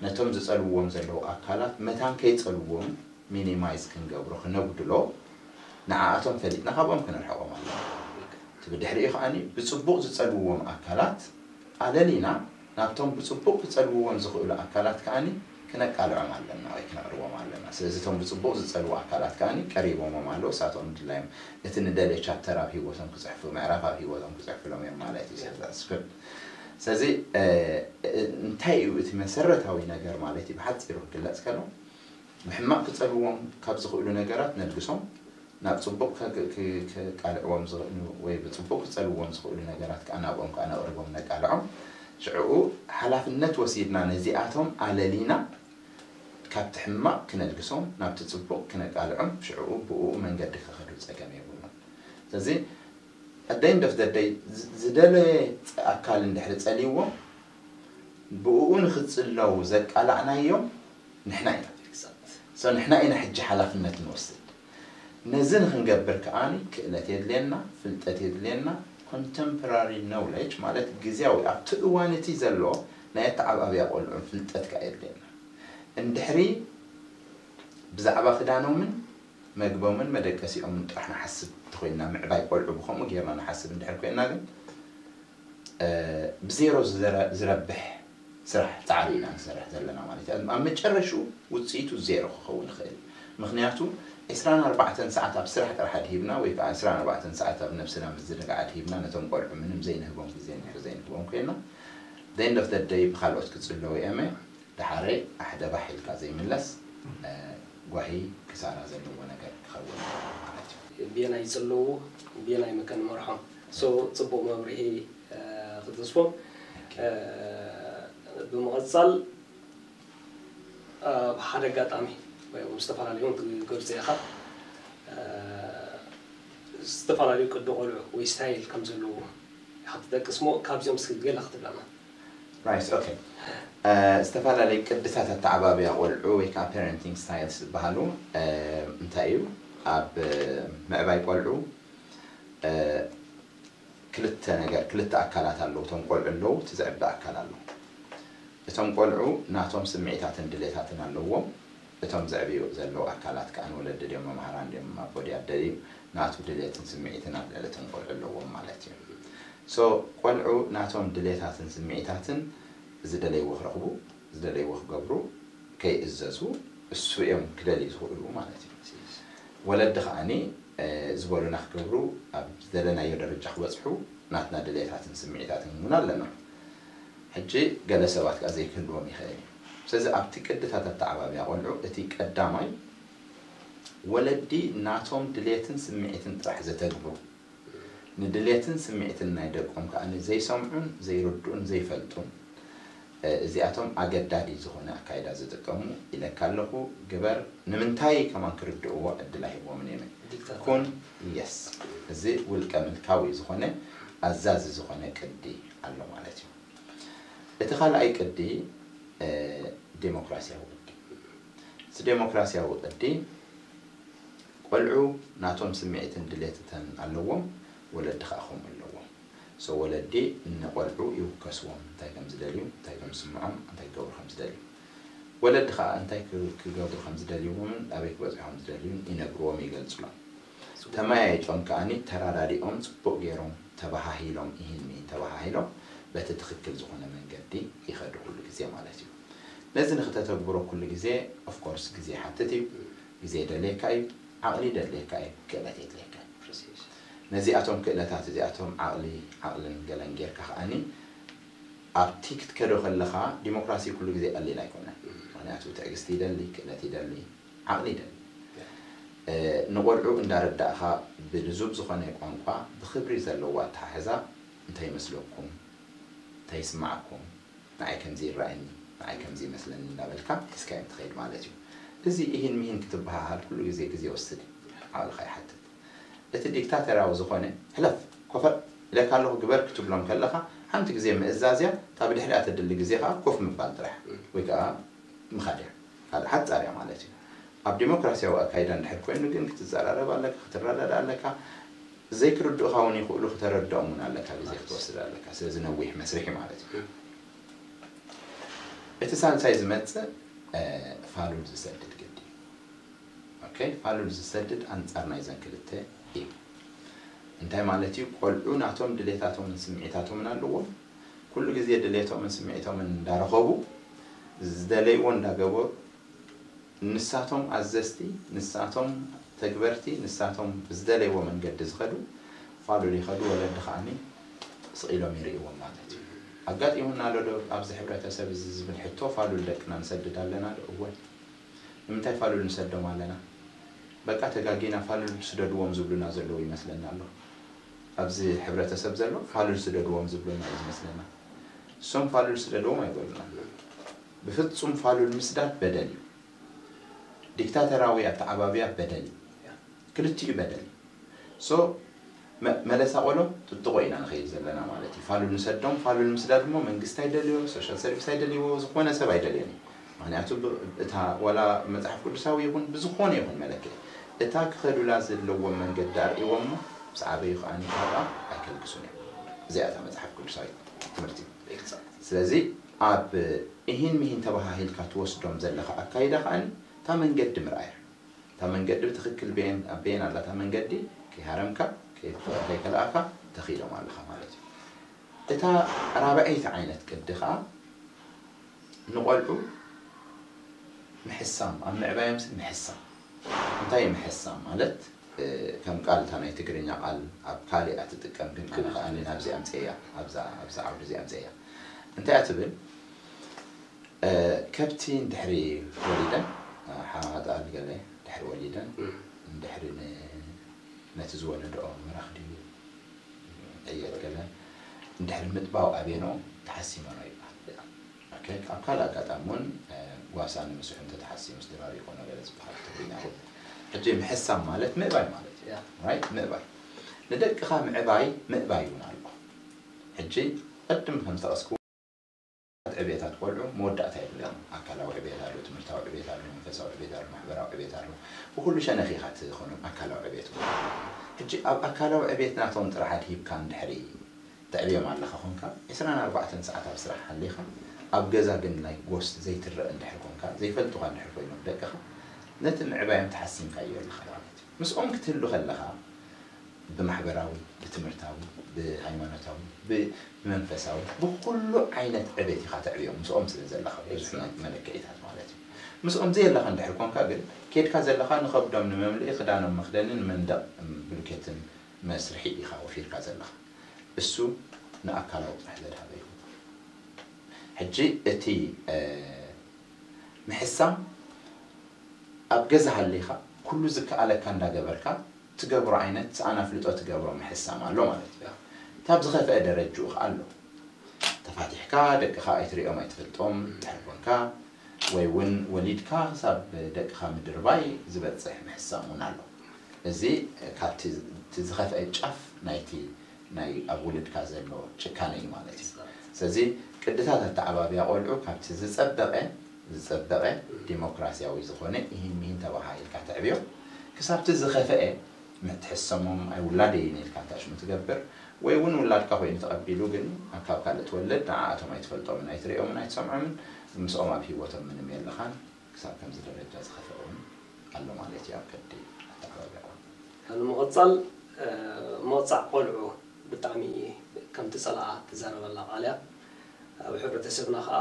ነቶም ዝፀልውዎም ዘለዉ ኣካላት መታን ከይፀልዎም ሚኒማይዝ ክንገብሮ ክነጉድሎ ንዓኣቶም ፈሊጥና ካብኦም ክንርሕቖም ኣለና። እቲ ብድሕሪኡ ከዓኒ ብፅቡቕ ዝፀልውዎም ኣካላት ኣለሊና ናብቶም ብፅቡቕ ክፀልውዎም ዝኽእሉ ኣካላት ከዓኒ ክነቃልዖም ኣለና ወይ ክነቕርቦም ኣለና። ስለዚ እቶም ብፅቡቕ ዝፀልዉ ኣካላት ከዓኒ ቀሪቦሞም ኣለዉ። እሳቶም ድላዮም እቲ ንደልዮ ቻፕተር ኣብ ህይወቶም ክፅሕፉ ምዕራፍ ኣብ ህይወቶም ክፅሕፍሎም እዮም ማለት እዩ። ስለዚ ስለዚ እንታይ እዩ እቲ መሰረታዊ ነገር ማለት እዩ ብሓፂሩ ክግለፅ ከሎ ብሕማቕ ክፀልዎም ካብ ዝኽእሉ ነገራት ነልግሶም ናብ ፅቡቕ ከቃልዕዎም ዝኽእሉ ወይ ብፅቡቕ ክፀልዎም ዝኽእሉ ነገራት ከዓ ናብኦም ከዓ ነቕርቦም ነቃልዖም። ሽዕኡ ሓላፍነት ወሲድና ነዚኣቶም ኣለሊና ካብቲ ሕማቕ ክነልግሶም ናብቲ ፅቡቕ ክነቃልዖም ሽዕኡ ብኡ መንገዲ ክኸዱ ፀገም የብሉን። ስለዚ ኣደይን ደፍደደይ ዝደለየ ኣካል እንድሕሪ ፀልይዎ ብኡ ንክፅለው ዘቃላዕናዮም ንሕና ኢና። ንሕና ኢና ሕጂ ሓላፍነት ንወስድ። ነዚ ንክንገብር ከኣ ክእለት የድልየና፣ ፍልጠት የድልየና። ኮንተምፖራሪ ኖውለጅ ማለት ግዜያዊ ኣብቲ እዋን እቲ ዘሎ ናይ ኣተዓባብያ ቆልዑ ፍልጠት ከኣ የድልየና። እንድሕሪ ብዛዕባ ክዳኖምን መግቦምን መደቀሲኦምን ጥራሕ ንሓስብ እንተኮይንና፣ ምዕባይ ቆልዑ ብከምኡ ጌርና ንሓስብ እንድሕር ኮይንና ግን ብዜሮ ዝረብሕ ስራሕ ፃዕሪ ኢና ንሰርሕ ዘለና ማለት እዩ። ኣብ መጨረሽኡ ውፅኢቱ ዜሮ ክኸውን ይኽእል። ምክንያቱ ዕስራን ኣርባዕተን ሰዓት ኣብ ስራሕ ጥራሕ ኣድሂብና ወይ ከዓ ዕስራን ኣርባዕተን ሰዓት ኣብ ነብስና ምዝንጋዕ ኣድሂብና ነቶም ቆልዑ ምንም ዘይንህቦም ግዜ እንድሕር ዘይንህቦም ኮይና ደንድ ኦፍ ደደይ ብካልኦት ክፅለዉ እየመ ደሓረይ ኣሕደባሕ ኢልካ ዘይምለስ ጓሂ ክሳራ ዘለዎ ነገር ክኸውን ማለት እዩ። ብየናይ ይፅለዉ፣ ብየናይ መከ ንመርሖም? So ፅቡቕ መብርሂ ክተስፎም። ብምቕፃል ብሓደ ኣጋጣሚ ወይ እውን ዝተፈላለዩ እውን ትገልፆ ኢኻ ዝተፈላለዩ ቅዲ ቆልዑ ወይ ስታይል ከም ዘለዎ ኢኻ ትጠቅስ ሞ ካብዚኦም እስኪ ገለ ክትብለና። Right, okay. ዝተፈላለዩ ቅድታት ኣተዓባብያ ቆልዑ ወይ ከዓ parenting styles ዝበሃሉ እንታይ እዩ? ኣብ ምዕባይ ቆልዑ ክልተ ነገር ክልተ ኣካላት ኣለዉ። እቶም ቆልዑ ኣለዉ፣ እቲ ዝዕቢ ኣካል ኣሎ። እቶም ቆልዑ ናቶም ስምዒታትን ድሌታትን ኣለዎም። እቶም ዝዕብዩ ዘለዉ ኣካላት ከዓ ንወለዲ ድዮም መምሃራን ድዮም ኣቦ ድዩ ኣደ ድዩ ናቱ ድሌትን ስምዒትን ኣብ ልዕሊ እቶም ቆልዑ ኣለዎም ማለት እዩ። So ቆልዑ ናቶም ድሌታትን ስምዒታትን ዝደለይዎ ክረኽቡ ዝደለይዎ ክገብሩ ከይእዘዙ እሱ እዮም ክደልዩ ዝኽእሉ ማለት እዩ። ወለዲ ከዓኒ ዝበሉና ክገብሩ ኣብ ዝደለናዮ ደረጃ ክበፅሑ ናትና ድሌታትን ስምዒታትን እውን ኣለና። ሕጂ ገለ ሰባት ከዓ ዘይክህልዎም ይኽእል እዩ። ስለዚ ኣብቲ ቅድታት ኣተዓባብያ ቆልዑ እቲ ቀዳማይ ወለዲ ናቶም ድሌትን ስምዒትን ጥራሕ ዘተግብሩ ንድሌትን ስምዒትን ናይ ደቆም ከኣ ዘይሰምዑን ዘይርድኡን ዘይፈልጡን እዚኣቶም ኣገዳዲ ዝኾነ ኣካይዳ ዝጥቀሙ ኢለካ ኣለኹ ግበር ንምንታይ ከማን ክርድእዎ ዕድል ኣይህቦምን እየ ኩን የስ እዚ ውልቀ ምልካዊ ዝኾነ ኣዛዚ ዝኾነ ቅዲ ኣሎ ማለት እዩ እቲ ካልኣይ ቅዲ ዴሞክራሲያዊ ቅዲ እዚ ዴሞክራሲያዊ ቅዲ ቆልዑ ናቶም ስምዒትን ድሌትተን ኣለዎም፣ ወለዲ ከኣ ከምኡ ኣለዎም። So ወለዲ ንቆልዑ ይውከስዎም፣ እንታይ ከም ዝደልዩ፣ እንታይ ከም ዝስምዖም፣ እንታይ ክገብሩ ከም ዝደልዩ። ወለዲ ከኣ እንታይ ክገብሩ ከም ዝደልዩን ኣበይ ክበጽሑ ከም ዝደልዩን ይነግርዎም፣ ይገልጹሎም። ተመያይጦም ከኣ ተራዳዲኦም ጽቡቕ ገይሮም ተበሃሂሎም ኢሂን ሚሂን ተበሃሂሎም በቲ ትኽክል ዝኾነ መንገዲ ይኸዱ ኩሉ ግዜ ማለት እዩ። ነዚ ንክተተግብሮ ኩሉ ግዜ of course ግዜ ይሓትት እዩ። ግዜ ይደልየካ እዩ፣ ዓቕሊ ይደልየካ እዩ፣ ክእለት የድልየካ እዩ። ነዚኣቶም ክእለታት እዚኣቶም ዓቕሊ ዓቕልን ገለን ጌርካ ከዓኒ ኣብቲ ክትከዶ ከለኻ ዲሞክራሲ ኩሉ ግዜ ቀሊል ኣይኮነን። ምክንያቱ ትዕግስቲ ይደሊ፣ ክእለት ይደሊ፣ ዓቕሊ ይደሊ። ንቆልዑ እንዳረዳእኻ ብልዙብ ዝኾነ ቋንቋ ብክብሪ ዘለዎ ኣተሓሕዛ እንታይ ይመስለኩም? እንታይ ይስማዓኩም? ንዓይ ከምዚ ይረኣየኒ፣ ንዓይ ከምዚ ይመስለኒ እንዳበልካ ሒዝካዮም ትኸይድ ማለት እዩ። እዚ ኢሂን ሚሂን ክትበሃሃል ኩሉ ግዜ ግዜ ይወስድ እዩ። ዓቕልኻ ይሓትት። እቲ ዲክታተርያዊ ዝኾነ ሕለፍ፣ ኮፈር ኢለካ ኣለኹ ግበር ክትብሎም ከለኻ ሓንቲ ግዜ ምእዛዝ እያ፣ እታ ብድሕሪኣ ተድሊ ግዜ ከዓ ኮፍ ምባል ጥራሕ ወይ ከዓ ምኻድ እያ። ካልእ ሓጻር እያ ማለት እዩ። ኣብ ዲሞክራሲያዊ ኣካይዳ እንድሕር ኮይኑ ግን ክትዘራረብ ኣለካ፣ ክትረዳዳ ኣለካ። ዘይክርድኡኻ እውን ይኽእሉ፣ ክተረድኦም እውን ኣለካ፣ ግዜ ክትወስድ ኣለካ። ስለዚ ነዊሕ መስርሕ እዩ ማለት እዩ። እቲ ሳልሳይ ዝመጽእ ፋሉል ዝሰድድ ግዲ። ኦኬ፣ ፋሉል ዝሰድድ ኣንጻር ናይዘን ክልተ እዩ። እንታይ ማለት እዩ? ቆልዑ ናቶም ድሌታቶምን ስምዒታቶምን ኣለዎም። ኩሉ ግዜ ድሌቶምን ስምዒቶምን እንዳረኸቡ ዝደለይዎ እንዳገበሩ ንሳቶም ኣዘዝቲ፣ ንሳቶም ተግበርቲ፣ ንሳቶም ብዝደለይዎ መንገዲ ዝኸዱ ፋሉል ይኸዱ፣ ወለዲ ከዓኒ ስቕ ኢሎም ይርእይዎም ማለት እዩ። ኣጋጢሙና ኣሎ ዶ ኣብዚ ሕብረተሰብ እዚ ዝብል ሕቶ፣ ፋሉል ደቅና ንሰድድ ኣለና ዶ? እወ። ንምንታይ ፋሉል ንሰዶም ኣለና? በቃ ተጋጊና ፋሉል ስደድዎም ዝብሉና ዘለዉ ይመስለና ኣሎ። ኣብዚ ሕብረተሰብ ዘሎ ፋሉል ስደድዎም ዝብሉና እዩ ዝመስለና። እሶም ፋሉል ስደድዎም ኣይበሉና። ብፍጹም ፋሉል ምስዳድ በደል እዩ። ዲክታተራዊ ኣተዓባብያ በደል እዩ። ክልቲኡ በደል እዩ። So መለሳ ቆሎ ጥጥቆ ኢና ንኸይድ ዘለና ማለት እዩ። ፋሉል ንሰዶም፣ ፋሉል ምስዳድ እሞ መንግስቲ ኣይደልዮ፣ ሶሻል ሰርቪስ ኣይደልይዎ፣ ዝኾነ ሰብ ኣይደልዮን እዩ። ምክንያቱ እታ ዋላ መፅሓፍ ቅዱሳዊ ይኹን ብዝኾነ ይኹን መለክዒ እታ ክኸዱላ ዘለዎም መንገዲ ኣርእይዎም እሞ ምስ ዓበዩ ከኣ ካብኣ ኣይከልግሱን እዮም። እዚኣ እታ መጽሓፍ ቅዱሳዊት ትምህርቲ። ስለዚ ኣብ እሂን ምሂን ተባሃሂልካ ትወስዶም ዘለኻ ኣካይዳ ከኣ እታ መንገዲ ምርኣያ። እታ መንገዲ ብትኽክል በየን ኣበየን ኣላ እታ መንገዲ ከይሃረምካ ከይከልኣካ ተኺሎም ኣለኻ ማለት እዩ። እታ ራብዐይቲ ዓይነት ቅዲ ከኣ ንቖልዑ ምሕሳም ኣብ ምዕባዮም ሰብ ምሕሳም እንታይ ምሕሳም ማለት ከም ቃል እታ ናይ ትግርኛ ቃል ኣብ ካልእ እያ ትጥቀም ግን ኣነ ከኣ ናብዚ ኣምፅእያ ኣብዛ ኣብዛ ዓውዲ እዚ ኣምፅእያ እንታይ እያ ትብል ከብቲ እንድሕሪ ወሊደን ሓማጣ ገለ ድሕሪ ወሊደን እንድሕሪ ነቲ ዝወለድኦ ምራኽ ድዩ ዕየት ገለ እንድሕሪ ምጥባው ኣቤኖ ተሓሲመኖ ይበሃል። ኣብ ካልእ ኣጋጣሚ እውን ጓሳ ንምስሑ እንተተሓሲሙ ስድራቤት ኮነ ገለ ዝበሃል ትግርኛ እውን ሕጂ ምሕሳም ማለት ምእባይ ማለት እዩ። ምእባይ ንደቅኻ ምዕባይ ምእባይ እውን ኣሎ። ሕጂ ቅድም ከም ዝጠቐስኩ ዕብየታት ቆልዑ መወዳእታ የብለን። ኣካላዊ ዕብየት ኣሎ፣ ትምህርታዊ ዕብየት ኣሎ፣ መንፈሳዊ ዕብየት ኣሎ፣ ማሕበራዊ ዕብየት ኣሎ። ብኩሉ ሸነኽ ኢኻ ትኾኖም ኣካላዊ ዕብየት እውን። ሕጂ ኣብ ኣካላዊ ዕብየት ናቶም ጥራሕ ኣድሂብካ እንድሕሪ ተዕብዮም ኣለኻ ኮንካ፣ ዕስራን ኣርባዕተን ሰዓት ኣብ ስራሕ ሃሊኻ፣ ኣብ ገዛ ግን ናይ ጎስት ዘይትረእ እንድሕር ኮንካ፣ ዘይፈልጡኻ እንድሕር ኮይኖም ደቅኻ፣ ነቲ ምዕባዮም ተሓሲምካዮ ኣለኻ ማለት እዩ። ምስኦም ክትህሉ ከለኻ፣ ብማሕበራዊ፣ ብትምህርታዊ፣ ብሃይማኖታዊ፣ ብመንፈሳዊ፣ ብኩሉ ዓይነት ዕቤት ኢኻ ተዕብዮም ምስኦም ስለ ዘለኻ ብዙሕ ናይ መለክዒታት ማለት እዩ። ምስኦም ዘየለኻ እንድሕር ኮንካ ግን ኬድካ ዘለኻ ንኸብዶም ንመምልኢ ክዳኖም መኽደንን መንደቕ ብሉኬትን መስርሒ ኢኻ ወፊርካ ዘለኻ። እሱ ንኣካላዊ ጥራሕ ዘድሃበ እዩ። ሕጂ እቲ ምሕሳም ኣብ ገዛ ሃሊኻ ኩሉ ዝከኣለካ እንዳገበርካ ትገብሮ ዓይነት ሰኣን ኣፍልጦ ትገብሮ ምሕሳም ኣሎ ማለት እዩ። እታ ኣብ ዝኸፍአ ደረጅኡ ከኣ ኣሎ። ተፋቲሕካ ደቅኻ ኣይትሪኦም ኣይትፈልጦም ድሕር ኮንካ ወይ እውን ወሊድካ ክሳብ ደቅኻ ምድርባይ ዝበፅሕ ምሕሳም እውን ኣሎ። እዚ ካብቲ ዝኸፍአ ጫፍ ናይቲ ናይ ኣብ ውልድካ ዘሎ ጭካነ እዩ ማለት እዩ። ስለዚ ቅድታት ኣተዓባብያ ቆልዑ ካብቲ ዝጸበቐ ዝጸበቐ ዲሞክራሲያዊ ዝኾነ ኢሂን ሚሂን ተባሃሂልካ ተዕብዮ ክሳብቲ ዝኸፍአ ምትሕሰሞም ኣይ ውላደይን ኢልካ እንታሽሙ ትገብር ወይ እውን ውላድካ ኮይኑ ተቐቢሉ ግን ካብ ካልእ ትወልድ ንዓኣቶም ኣይትፈልጦምን ኣይትሪኦምን ኣይትሰምዖምን ምስኦም ኣብ ህይወቶም ምንም የለኻን ክሳብ ከምዚ ደረጃ ዝኸፍአ እውን ኣሎ ማለት እዩ ኣብ ከዲ ኣተዓባብያ ቆልዑ። ንምቕጻል ምቕጻዕ ቆልዑ ብጣዕሚ ከምቲ ጸላኣ ትዛረበላ ቃል እያ። ኣብ ሕብረተሰብና ከዓ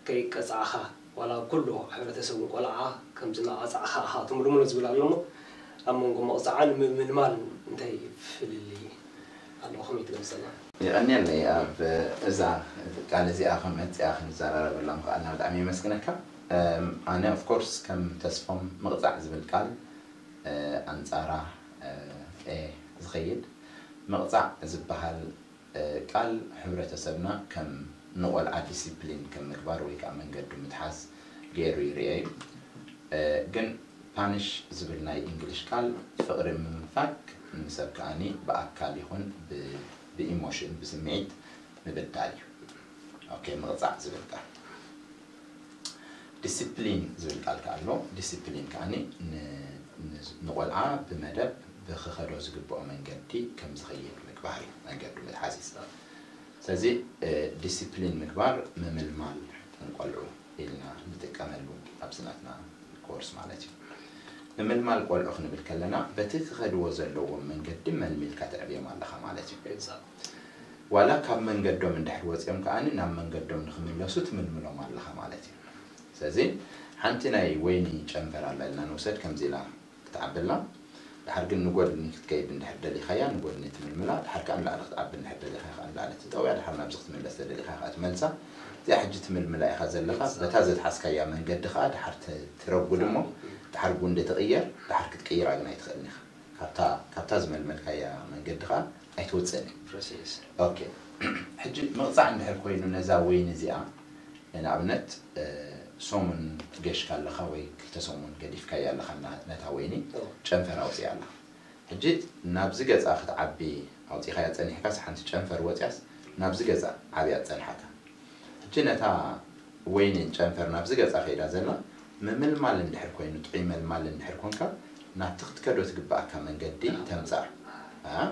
ከይቀጻዕኻ ዋላ ኩሉ ሕብረተሰብ ንቆልዓ ከምዚ እናቐጻዕኻ ኢኻ ትምልምሎ ዝብል ኣሎ እሞ ኣብ መንጎ ምቕጻዕን ምምልማል እንታይ ፍልልይ ኣለዎ ከመይ ትገልጸልና? የቐንየለይ ኣብ እዛ ቃል እዚኣ ከም መፅኣ ክንዘራረበላ ምኽኣልና ብጣዕሚ የመስግነካ። ኣነ ኦፍኮርስ ከም ተስፎም ምቕፃዕ ዝብል ቃል ኣንፃራ ዝኸይድ ምቕፃዕ ዝበሃል ቃል ሕብረተሰብና ከም ንቆልዓ ዲሲፕሊን ከም ምግባር ወይ ከዓ መንገዱ ምትሓዝ ገይሩ ይርአ እዩ። ግን ፓንሽ ዝብል ናይ እንግሊሽ ቃል ፍቕሪ ምምፋግ ንሰብ ከኣኒ ብኣካል ይኹን ብኢሞሽን ብስምዒት ምብዳል እዩ። ኦኬ ምቕፃዕ ዝብል ቃል ዲሲፕሊን ዝብል ቃል ከኣ ኣሎ። ዲሲፕሊን ከኣ ንቆልዓ ብመደብ ብክኸዶ ዝግብኦ መንገዲ ከም ዝኸይድ ምግባር እዩ መንገዱ ምትሓዝ እዩ። ስለዚ ዲሲፕሊን ምግባር ምምልማል ንቆልዑ ኢልና ንጥቀመሉ ኣብዚ ናትና ኮርስ ማለት እዩ። ምምልማል ቆልዑ ክንብል ከለና በቲ ክኸድዎ ዘለዎም መንገዲ መልሚልካ ተዕብዮም ኣለኻ ማለት እዩ። ዋላ ካብ መንገዶም እንድሕር ወፂኦም ከኣ ናብ መንገዶም ንክምለሱ ትምልምሎም ኣለኻ ማለት እዩ። ስለዚ ሓንቲ ናይ ወይኒ ጨንፈር ኣላ ኢልና ንውሰድ ከምዚ ኢላ ክትዓቢ ኣላ። ድሓር ግን ንጎድኒ ክትከይድ እንድሕር ደሊኻያ ንጎድኒ ትምልምላ፣ ድሓር ከኣ ንላዕሊ ክትዓቢ እንድሕር ደሊኻያ ከኣ ንላዕሊ ትጠውያ፣ ድሓር ናብዚ ክትምለስ ተደሊኻ ከኣ ትመልሳ። እዚኣ ሕጂ ትምልምላ ኢኻ ዘለኻ። በታ ዘትሓዝካያ መንገዲ ከኣ ድሓር ትረጉድ እሞ ድሓር ጉንዲ ትቕየር፣ ድሓር ክትቅይራ ግን ኣይትኽእልን ኢኻ። ካብታ ካብታ ዝመልመልካያ መንገዲ ከኣ ኣይትወፅእን እያ። ኦኬ ሕጂ ምቕፃዕ እንድሕር ኮይኑ ነዛ ወይኒ እዚኣ ንኣብነት ሰሙን ገሽካ ኣለኻ ወይ ክልተ ሰሙን ገዲፍካያ ኣለኻ ነታ ወይኒ ጨንፈር ኣውፅኣ ኣለኻ። ሕጂ ናብዚ ገፃ ክትዓቢ ኣውፂኻያ ፀኒሕካስ ሓንቲ ጨንፈር ወፅያስ ናብዚ ገፃ ዓብያ ትፀንሓካ። ሕጂ ነታ ወይኒ ጨንፈር ናብዚ ገፃ ከይዳ ዘላ ምምልማል እንድሕር ኮይኑ ጥዑይ መልማል እንድሕር ኮንካ ናብቲ ክትከዶ ትግባኣካ መንገዲ ተምፃእ።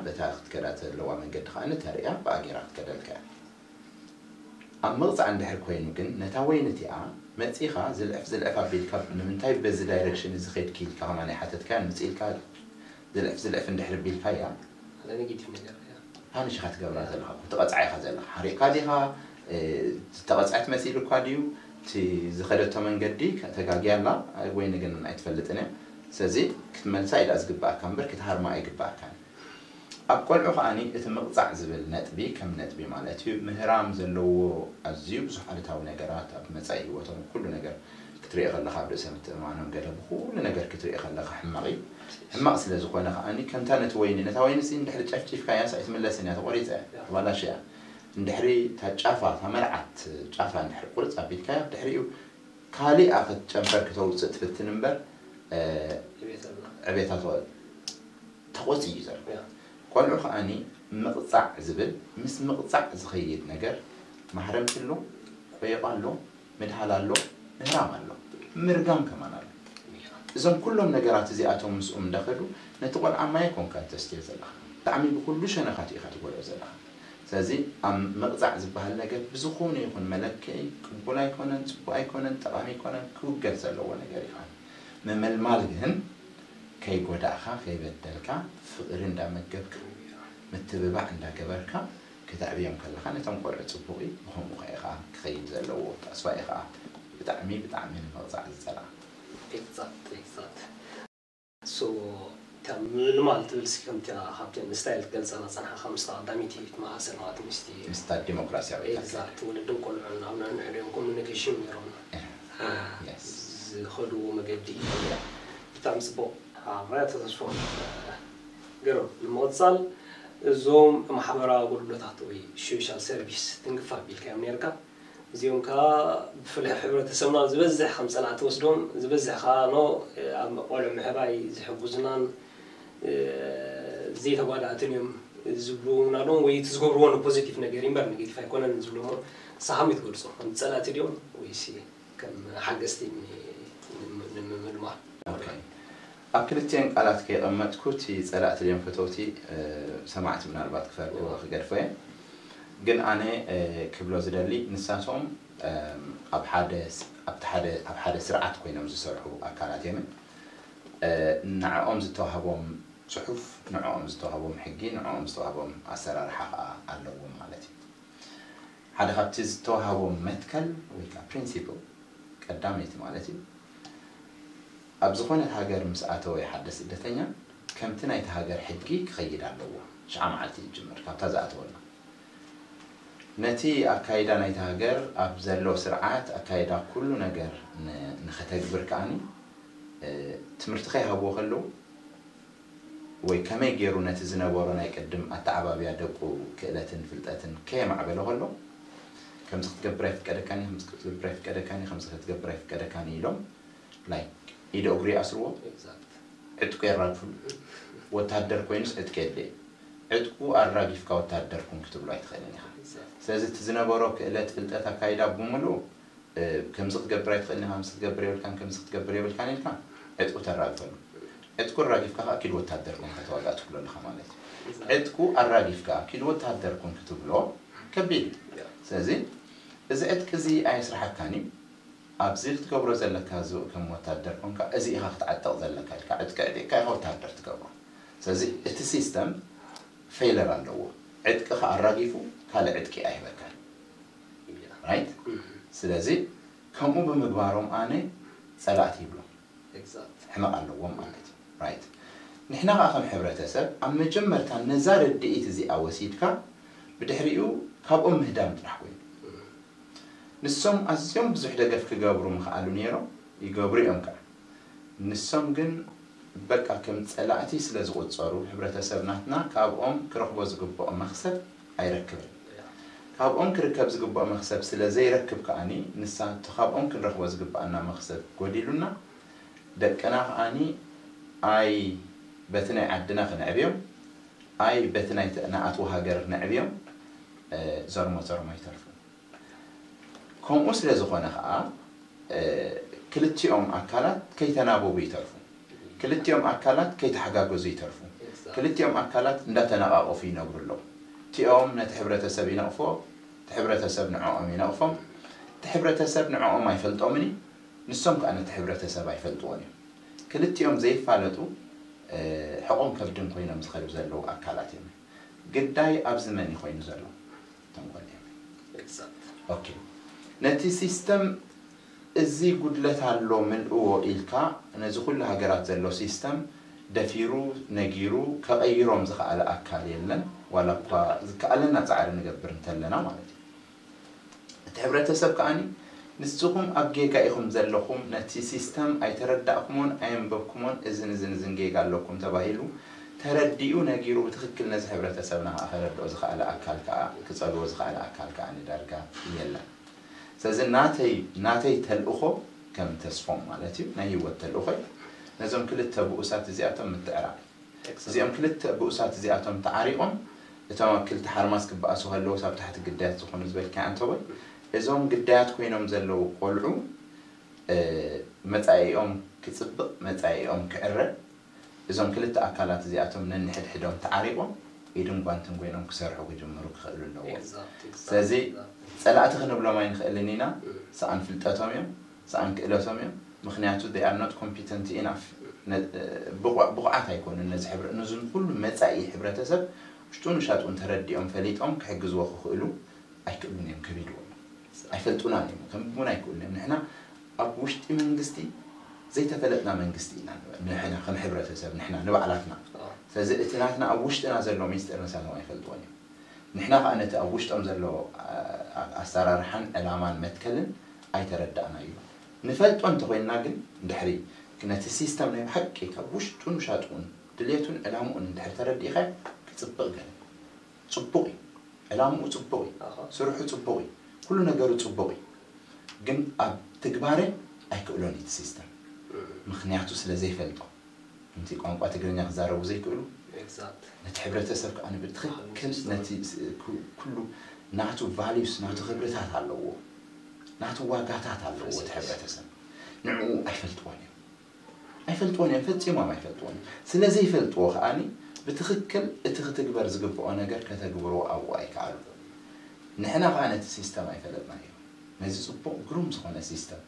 በታ ክትከዳ ዘለዋ መንገዲ ከዓ ንተርእያ ብኣጌራ ክትከደልካ እያ። ኣብ ምቕፃዕ እንድሕር ኮይኑ ግን ነታ ወይኒ እቲኣ መፂኻ ዝልዕፍ ዝልዕፍ ኣቢልካ ንምንታይ በዚ ዳይረክሽን እዚ ኸይድኪ ኢልካ ከማን ኣይሓተትካያን ምፅእ ኢልካ ዝልዕፍ ዝልዕፍ እንድሕር ቢልካያ ፓኒሽ ኢኻ ትገብራ ዘለኻ ትቐፅዓ ኢኻ ዘለኻ ሓሪቕካ ዲኻ ተቐፅዐት መሲሉ እኳ ድዩ እቲ ዝኸደቶ መንገዲ ተጋጊያ ኣላ ወይኒ ግን ኣይትፈልጥን እያ ስለዚ ክትመልሳ ኢዳ ዝግባኣካ እምበር ክትሃርማ ኣይግባኣካን ኣብ ቆልዑ ከኣኒ እቲ ምቕጻዕ ዝብል ነጥቢ ከም ነጥቢ ማለት እዩ ምህራም ዘለዎ ኣዝዩ ብዙሕ ኣሉታዊ ነገራት ኣብ መጻኢ ህይወቶም ኩሉ ነገር ክትሪኦ ከለኻ ኣብ ርእሰ ምትእምማኖም ገለ ብኩሉ ነገር ክትሪኦ ከለኻ ሕማቕ እዩ ሕማቕ ስለ ዝኾነ ከኣኒ ከምታ ነቲ ወይኒ ነታ ወይኒ ሲ እንድሕሪ ጨፍጪፍካያ ሳ ኣይትምለስን እያ ተቖሪጸ እያ ተባላሽ እያ እንድሕሪ እታ ጫፋ እታ መልዓት ጫፋ እንድሕሪ ቁርጽ ኣቢልካያ ድሕሪኡ ካሊኣ ክትጨንፈር ክተውፅእ ትፍትን እምበር ዕቤታ ተቆፂ እዩ ዘሎ። ቆልዑ ከዓኒ ምቕፃዕ ዝብል ምስ ምቕፃዕ ዝኸይድ ነገር ማህረምቲ ኣሎ፣ ቆየቋ ኣሎ፣ ምድሃል ኣሎ፣ ምህራም ኣሎ፣ ምርጋም ከማን ኣሎ። እዞም ኩሎም ነገራት እዚኣቶም ምስኦም እንዳኸዱ ነቲ ቆልዓ ማይ ኮንካ ተስትዮ ዘለኻ። ብጣዕሚ ብኩሉ ሸነኻት ኢኻ ትጎድኦ ዘለኻ። ስለዚ ኣብ ምቕፃዕ ዝበሃል ነገር ብዝኾነ ይኹን መለክዒ ቅቡል ኣይኮነን፣ ፅቡቕ ኣይኮነን፣ ጠቓሚ ኣይኮነን፣ ክውገድ ዘለዎ ነገር እዩ። ምምልማል ግን ከይጎዳእኻ፣ ከይበደልካ፣ ፍቕሪ እንዳመገብካ፣ ምትብባዕ እንዳገበርካ ክተዕብዮም ከለኻ ነቶም ቆልዑ ፅቡቕ እዩ፣ ብኸምኡ ኸ ኢኻ ክኸይድ ዘለዎ፣ ተስፋ ኢኻ ብጣዕሚ ብጣዕሚ ንምቕፃዕ ዝፀልኣ። Exact, exact. So እታ ምልማል ትብል ሲ ከምቲ ካብቲ ንስታይል ትገልፀና ፀናሕካ ምስታ ቀዳመይቲ ትመሳሰል ማለት ምስቲ ምስታ ዲሞክራሲያዊ ኤግዛክት ወለድን ቆልዑን ኣብ ነንሕድኦም ኮሚኒኬሽን ነይሮም ዝኸድዎ መገዲ ብጣዕሚ ፅቡቕ ሓብራያ ተተስፎ ገሮም ንምቕፃል እዞም ማሕበራዊ ኣገልግሎታት ወይ ሶሻል ሰርቪስ ትንክፍ ኣቢልካዮም ነርካ እዚኦም ከዓ ብፍላይ ሕብረተሰብና ዝበዝሕ ከም ፀላእ ተወስዶም ዝበዝሕ ከዓ ኖ ኣብ ቆልዑ ምሕባይ ዝሕጉዝናን ዘይተጓዳእትን እዮም ዝብሉ እውን ኣለዎም ወይ እቲ ዝገብርዎ ንፖዚቲቭ ነገር እምበር ኔጌቲቭ ኣይኮነን ዝብሉ እሞ ንስኻ ከመይ ትገልፆ ከም ፀላእቲ ድዮም ወይስ ከም ሓገዝቲ ንምምልማል ኣብ ክልቲኤን ቃላት ከየቐመጥኩ እቲ ጸላእቲ ድዮም ፈተውቲ ሰማዕቲ ምናልባት ክፈርድዎ ክገድፎ እየ ግን ኣነ ክብሎ ዝደሊ ንሳቶም ኣብ ሓደ ኣብ ሓደ ስርዓት ኮይኖም ዝሰርሑ ኣካላት እዮም ንዕኦም ዝተዋህቦም ጽሑፍ ንዕኦም ዝተዋህቦም ሕጊ ንዕኦም ዝተዋህቦም ኣሰራርሓ ከዓ ኣለዎም ማለት እዩ ሓደ ካብቲ ዝተዋህቦም መትከል ወይ ከዓ ፕሪንሲፕል ቀዳመይቲ ማለት እዩ ኣብ ዝኾነት ሃገር ምስ ኣተወ ሓደ ስደተኛ ከምቲ ናይቲ ሃገር ሕጊ ክኸይድ ኣለዎ። ሽዓ መዓልቲ ይጅምር ካብታ ዝኣተወላ። ነቲ ኣካይዳ ናይቲ ሃገር ኣብ ዘሎ ስርዓት ኣካይዳ ኩሉ ነገር ንኸተግብር ከኣኒ ትምህርቲ ከይሃብዎ ከለዉ ወይ ከመይ ገይሩ ነቲ ዝነበሮ ናይ ቅድም ኣተዓባብያ ደቁ ክእለትን ፍልጠትን ከየማዕበለ ከሎ ከምዚ ክትገብር ኣይፍቀደካን እዩ፣ ከምዚ ክትገብር ኣይፍቀደካን እዩ፣ ከምዚ ክትገብር ኣይፍቀደካን እዩ ኢሎም like ኢደ እግሩ ይኣስርዎ፣ ዕጥቁ የራግፍሉ። ወታደር ኮይኑስ ዕጥቂ የድልየ እዩ። ዕጥቁ ኣራጊፍካ ወታደር ኩን ክትብሎ ኣይትኽእልን ኢኻ። ስለዚ እቲ ዝነበሮ ክእለት፣ ፍልጠት፣ ኣካይዳ ብምሉኡ ከምዚ ክትገብር ኣይትኽእልን ኢኻ፣ ከምዚ ክትገብር የብልካን፣ ከምዚ ክትገብር የብልካን ኢልካ ዕጥቁ ተራግፈሉ። ዕጥቁ ኣራጊፍካ ከዓ ኪድ ወታደር ኮይንካ ተዋጋእ ትብሎ ኣለኻ ማለት እዩ። ዕጥቁ ኣራጊፍካ ኪድ ወታደር ኩን ክትብሎ ከቢድ እዩ። ስለዚ እዚ ዕጥቂ እዚ ኣየስርሓካን እዩ። ኣብዚ ክትገብሮ ዘለካ እዚ ከም ወታደር ኮንካ እዚ ኢኻ ክትዓጠቕ ዘለካ ኢልካ ዕጥቂ ዕጢቕካ ኢኻ ወታደር ትገብሮ። ስለዚ እቲ ሲስተም ፌለር ኣለዎ። ዕጥቅኻ ኣራጊፉ ካልእ ዕጥቂ ኣይህበካን። ራይት? ስለዚ ከምኡ ብምግባሮም ኣነ ጸላእቲ ይብሎም። ሕመቕ ኣለዎም ማለት እዩ። ራይት? ንሕና ከዓ ከም ሕብረተሰብ ኣብ መጀመርታ ነዛ ርድኢት እዚኣ ወሲድካ ብድሕሪኡ ካብኦም ምህዳም ጥራሕ ኮይኑ። ንሶም ኣዝዮም ብዙሕ ደገፍ ክገብሩ ምኽኣሉ ነይሮም፣ ይገብሩ እዮም ከዓ። ንሶም ግን በቃ ከም ጸላእቲ ስለ ዝቑጸሩ፣ ሕብረተሰብ ናትና ካብኦም ክረኽቦ ዝግብኦ መኽሰብ ኣይረክብን። ካብኦም ክርከብ ዝግብኦ መኽሰብ ስለ ዘይረክብ ከኣኒ፣ ንሳ እቲ ካብኦም ክንረኽቦ ዝግብኣና መኽሰብ ጎዲሉና፣ ደቅና ከኣኒ ኣይ በቲ ናይ ዓድና ክነዕብዮም፣ ኣይ በቲ ናይ ንኣትዎ ሃገር ነዕብዮም፣ ዘርሞ ዘርሞ ይተርፉ። ከምኡ ስለ ዝኾነ ኸዓ ክልቲኦም ኣካላት ከይተናበቡ ይተርፉ። ክልቲኦም ኣካላት ከይተሓጋገዙ ይተርፉ። ክልቲኦም ኣካላት እንዳተነቓቐፉ ይነብሩ ኣለዉ። እቲኦም ነቲ ሕብረተሰብ ይነቕፍዎ፣ እቲ ሕብረተሰብ ንዕኦም ይነቕፎም። እቲ ሕብረተሰብ ንዕኦም ኣይፈልጦምን እዩ፣ ንሶም ከኣ ነቲ ሕብረተሰብ ኣይፈልጥዎን እዮም። ክልቲኦም ዘይፋለጡ ሕቖን ከብድን ኮይኖም ዝኸዱ ዘለዉ ኣካላት እዮም። ግዳይ ኣብዚ መን እዩ ኮይኑ ዘሎ? ተንኮል እዮም። ኦኬ፣ ነቲ ሲስተም እዚ ጉድለት ኣሎ ምልእዎ ኢልካ ነዚ ኩሉ ሃገራት ዘሎ ሲስተም ደፊሩ ነጊሩ ከቐይሮም ዝኸኣለ ኣካል የለን። ዋላ እኳ ዝከኣለና ፃዕሪ ንገብር እንተለና ማለት እዩ። እቲ ሕብረተሰብ ከዓኒ ንስኹም ኣብ ጌጋ ኢኹም ዘለኹም፣ ነቲ ሲስተም ኣይተረዳእኩሞን ኣየንበብኩሞን፣ እዝን እዝን እዝን ጌጋ ኣለኩም ተባሂሉ ተረዲኡ ነጊሩ ብትኽክል ነዚ ሕብረተሰብና ከዓ ከረድኦ ዝኸኣለ ኣካል ከዓ ክፀልዎ ዝኸኣለ ኣካል ከዓ ንዳርጋ የለን። ስለዚ ናተይ ናተይ ተልእኾ ከም ተስፎም ማለት እዩ ናይ ህይወት ተልእኾ እዩ ነዞም ክልተ ብኡሳት እዚኣቶም ምትዕራቕ እዩ። እዚኦም ክልተ ብኡሳት እዚኣቶም ተዓሪቖም እቶም ኣብ ክልተ ሓርማስ ክበኣሱ ከለዉ ሳብ ታሕቲ ግዳያት ዝኾኑ ዝበልካ ኣንተወይ እዞም ግዳያት ኮይኖም ዘለዉ ቆልዑ መፃኢኦም ክፅብቕ መፃኢኦም ክዕረ እዞም ክልተ ኣካላት እዚኣቶም ነንሕድሕዶም ተዓሪቖም ኢድን ጓንትን ኮይኖም ክሰርሑ ክጅምሩ ክኽእሉ ኣለዎም። ስለዚ ፀላእቲ ክንብሎም ኣይንኽእልን ኢና። ሰኣን ፍልጠቶም እዮም፣ ሰኣን ክእለቶም እዮም። ምክንያቱ they are not competent enough። ብቑዓት ኣይኮኑን ነዚ ሕብረ ነዚ ኩሉ መፃኢ ሕብረተሰብ ውሽጡን ውሻጡን ተረዲኦም ፈሊጦም ክሕግዝዎ ክኽእሉ ኣይክእሉን እዮም። ከቢድዎም ኣይፈልጡናን እዮም። ከንብቡን ኣይክእሉን እዮም። ንሕና ኣብ ውሽጢ መንግስቲ ዘይተፈለጥና መንግስቲ ኢና ንሕና ከም ሕብረተሰብ ንሕና ንባዕላትና። ስለዚ እቲ ናትና ኣብ ውሽጥና ዘሎ ሚስጥር ንሳቶም ኣይፈልጥዎን እዮም። ንሕና ከዓ ነቲ ኣብ ውሽጦም ዘሎ ኣሰራርሓን ዕላማን መትከልን ኣይተረዳእናዮ። ንፈልጦ እንተኮይንና ግን ድሕሪ ነቲ ሲስተም ናይ ብሓቂ ካብ ውሽጡን ውሻጥኡን ድሌቱን ዕላምኡን እንድሕር ተረዲእኻ ክፅብቕ ገለ ፅቡቕ እዩ። ዕላምኡ ፅቡቕ እዩ። ስርሑ ፅቡቕ እዩ። ኩሉ ነገሩ ፅቡቕ እዩ። ግን ኣብ ትግባረ ኣይክእሎን እዩ እቲ ሲስተም። ምክንያቱ ስለ ዘይፈልጦ። ከምቲ ቋንቋ ትግርኛ ክዛረቡ ዘይክእሉ ነቲ ሕብረተሰብ ከዓ ብትክክል ነቲ ኩሉ ናቱ ቫሊዩስ ናቱ ክብርታት ኣለዎ ናቱ ዋጋታት ኣለዎ እቲ ሕብረተሰብ ንዕኡ ኣይፈልጥዎን እዮም ኣይፈልጥዎን እዮም ፈፂሞም ኣይፈልጥዎን እዮም ስለ ዘይፈልጥዎ ከዓ ብትክክል እቲ ክትግበር ዝግብኦ ነገር ከተግብርዎ ኣብኡ ኣይከኣሉ ንሕና ከዓ ነቲ ሲስተም ኣይፈለጥናዮ ነዚ ፅቡቅ ግሩም ዝኮነ ሲስተም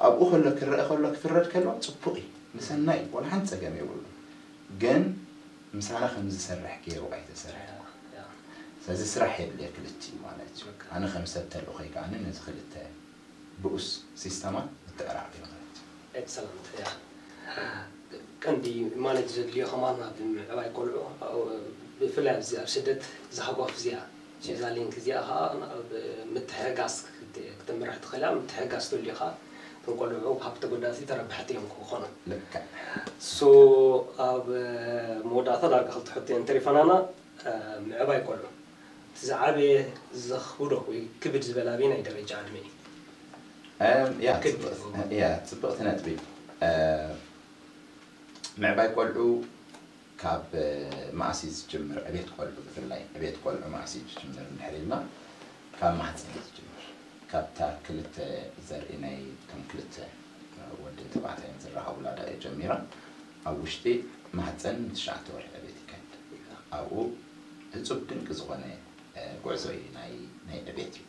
ኣብኡ ከሎ ክረአ ከሎ ክፍረድ ከሎ ፅቡቅ እዩ ንሰናይ እዩ ዋላ ሓንቲ ፀገም የብሉ ግን ምሳና ከም ዝሰርሕ ገይሩ ኣይተሰርሐ ስለዚ ስራሕ የድልየ ክልቲ እዩ ማለት እዩ ኣነ ከም ሰብ ተልእኮይ ከዓ ነዚ ክልተ ብኡስ ሲስተማት ምትዕራቅ እዩ ማለት እዩ ኤክሰለንት ቀንዲ ማኔጅ ዘድልዮ ከማን ኣብ ምዕባይ ቆልዑ ብፍላይ ኣብዚ ኣብ ስደት ዝሃጓፍ እዚኣ እዛ ሊንክ እዚኣ ከዓ ምትሕጋዝ ክትምራሕ ትኽእል እያ ምትሕጋዝ ትልዩ ከዓ እቶም ቆልዑ ካብ ተጎዳእቲ ተረባሕቲ እዮም ክኾኑ ልክዕ ሶ ኣብ መወዳእታ ዳርጋ ክልተ ሕቶ እየን ተሪፈናና ምዕባይ ቆልዑ እቲ ዝዓበየ ዘኽብዶ ወይ ክብድ ዝበለ ኣበየናይ ደረጃ ዕድመ እዩ ያ ጽብቕቲ ነጥቢ ምዕባይ ቆልዑ ካብ መኣስ እዩ ዝጅምር ዕቤት ቆልዑ ብፍላይ ዕቤት ቆልዑ መኣስ እዩ ዝጅምር እንድሕር ኢልና ካብ ማህፀን እዩ ዝጅምር ካብታ ክልተ ዘርኢ ናይ ከም ክልተ ወድን ተባዕታይን ዝራኸቡላ ደቂ ጀሚራ ኣብ ውሽጢ ማህፀን ንትሽዓተ ወርሒ ዕቤት ይከድ ኣብኡ እፁብ ድንቂ ዝኾነ ጉዕዞ እዩ ናይ ዕቤት እዩ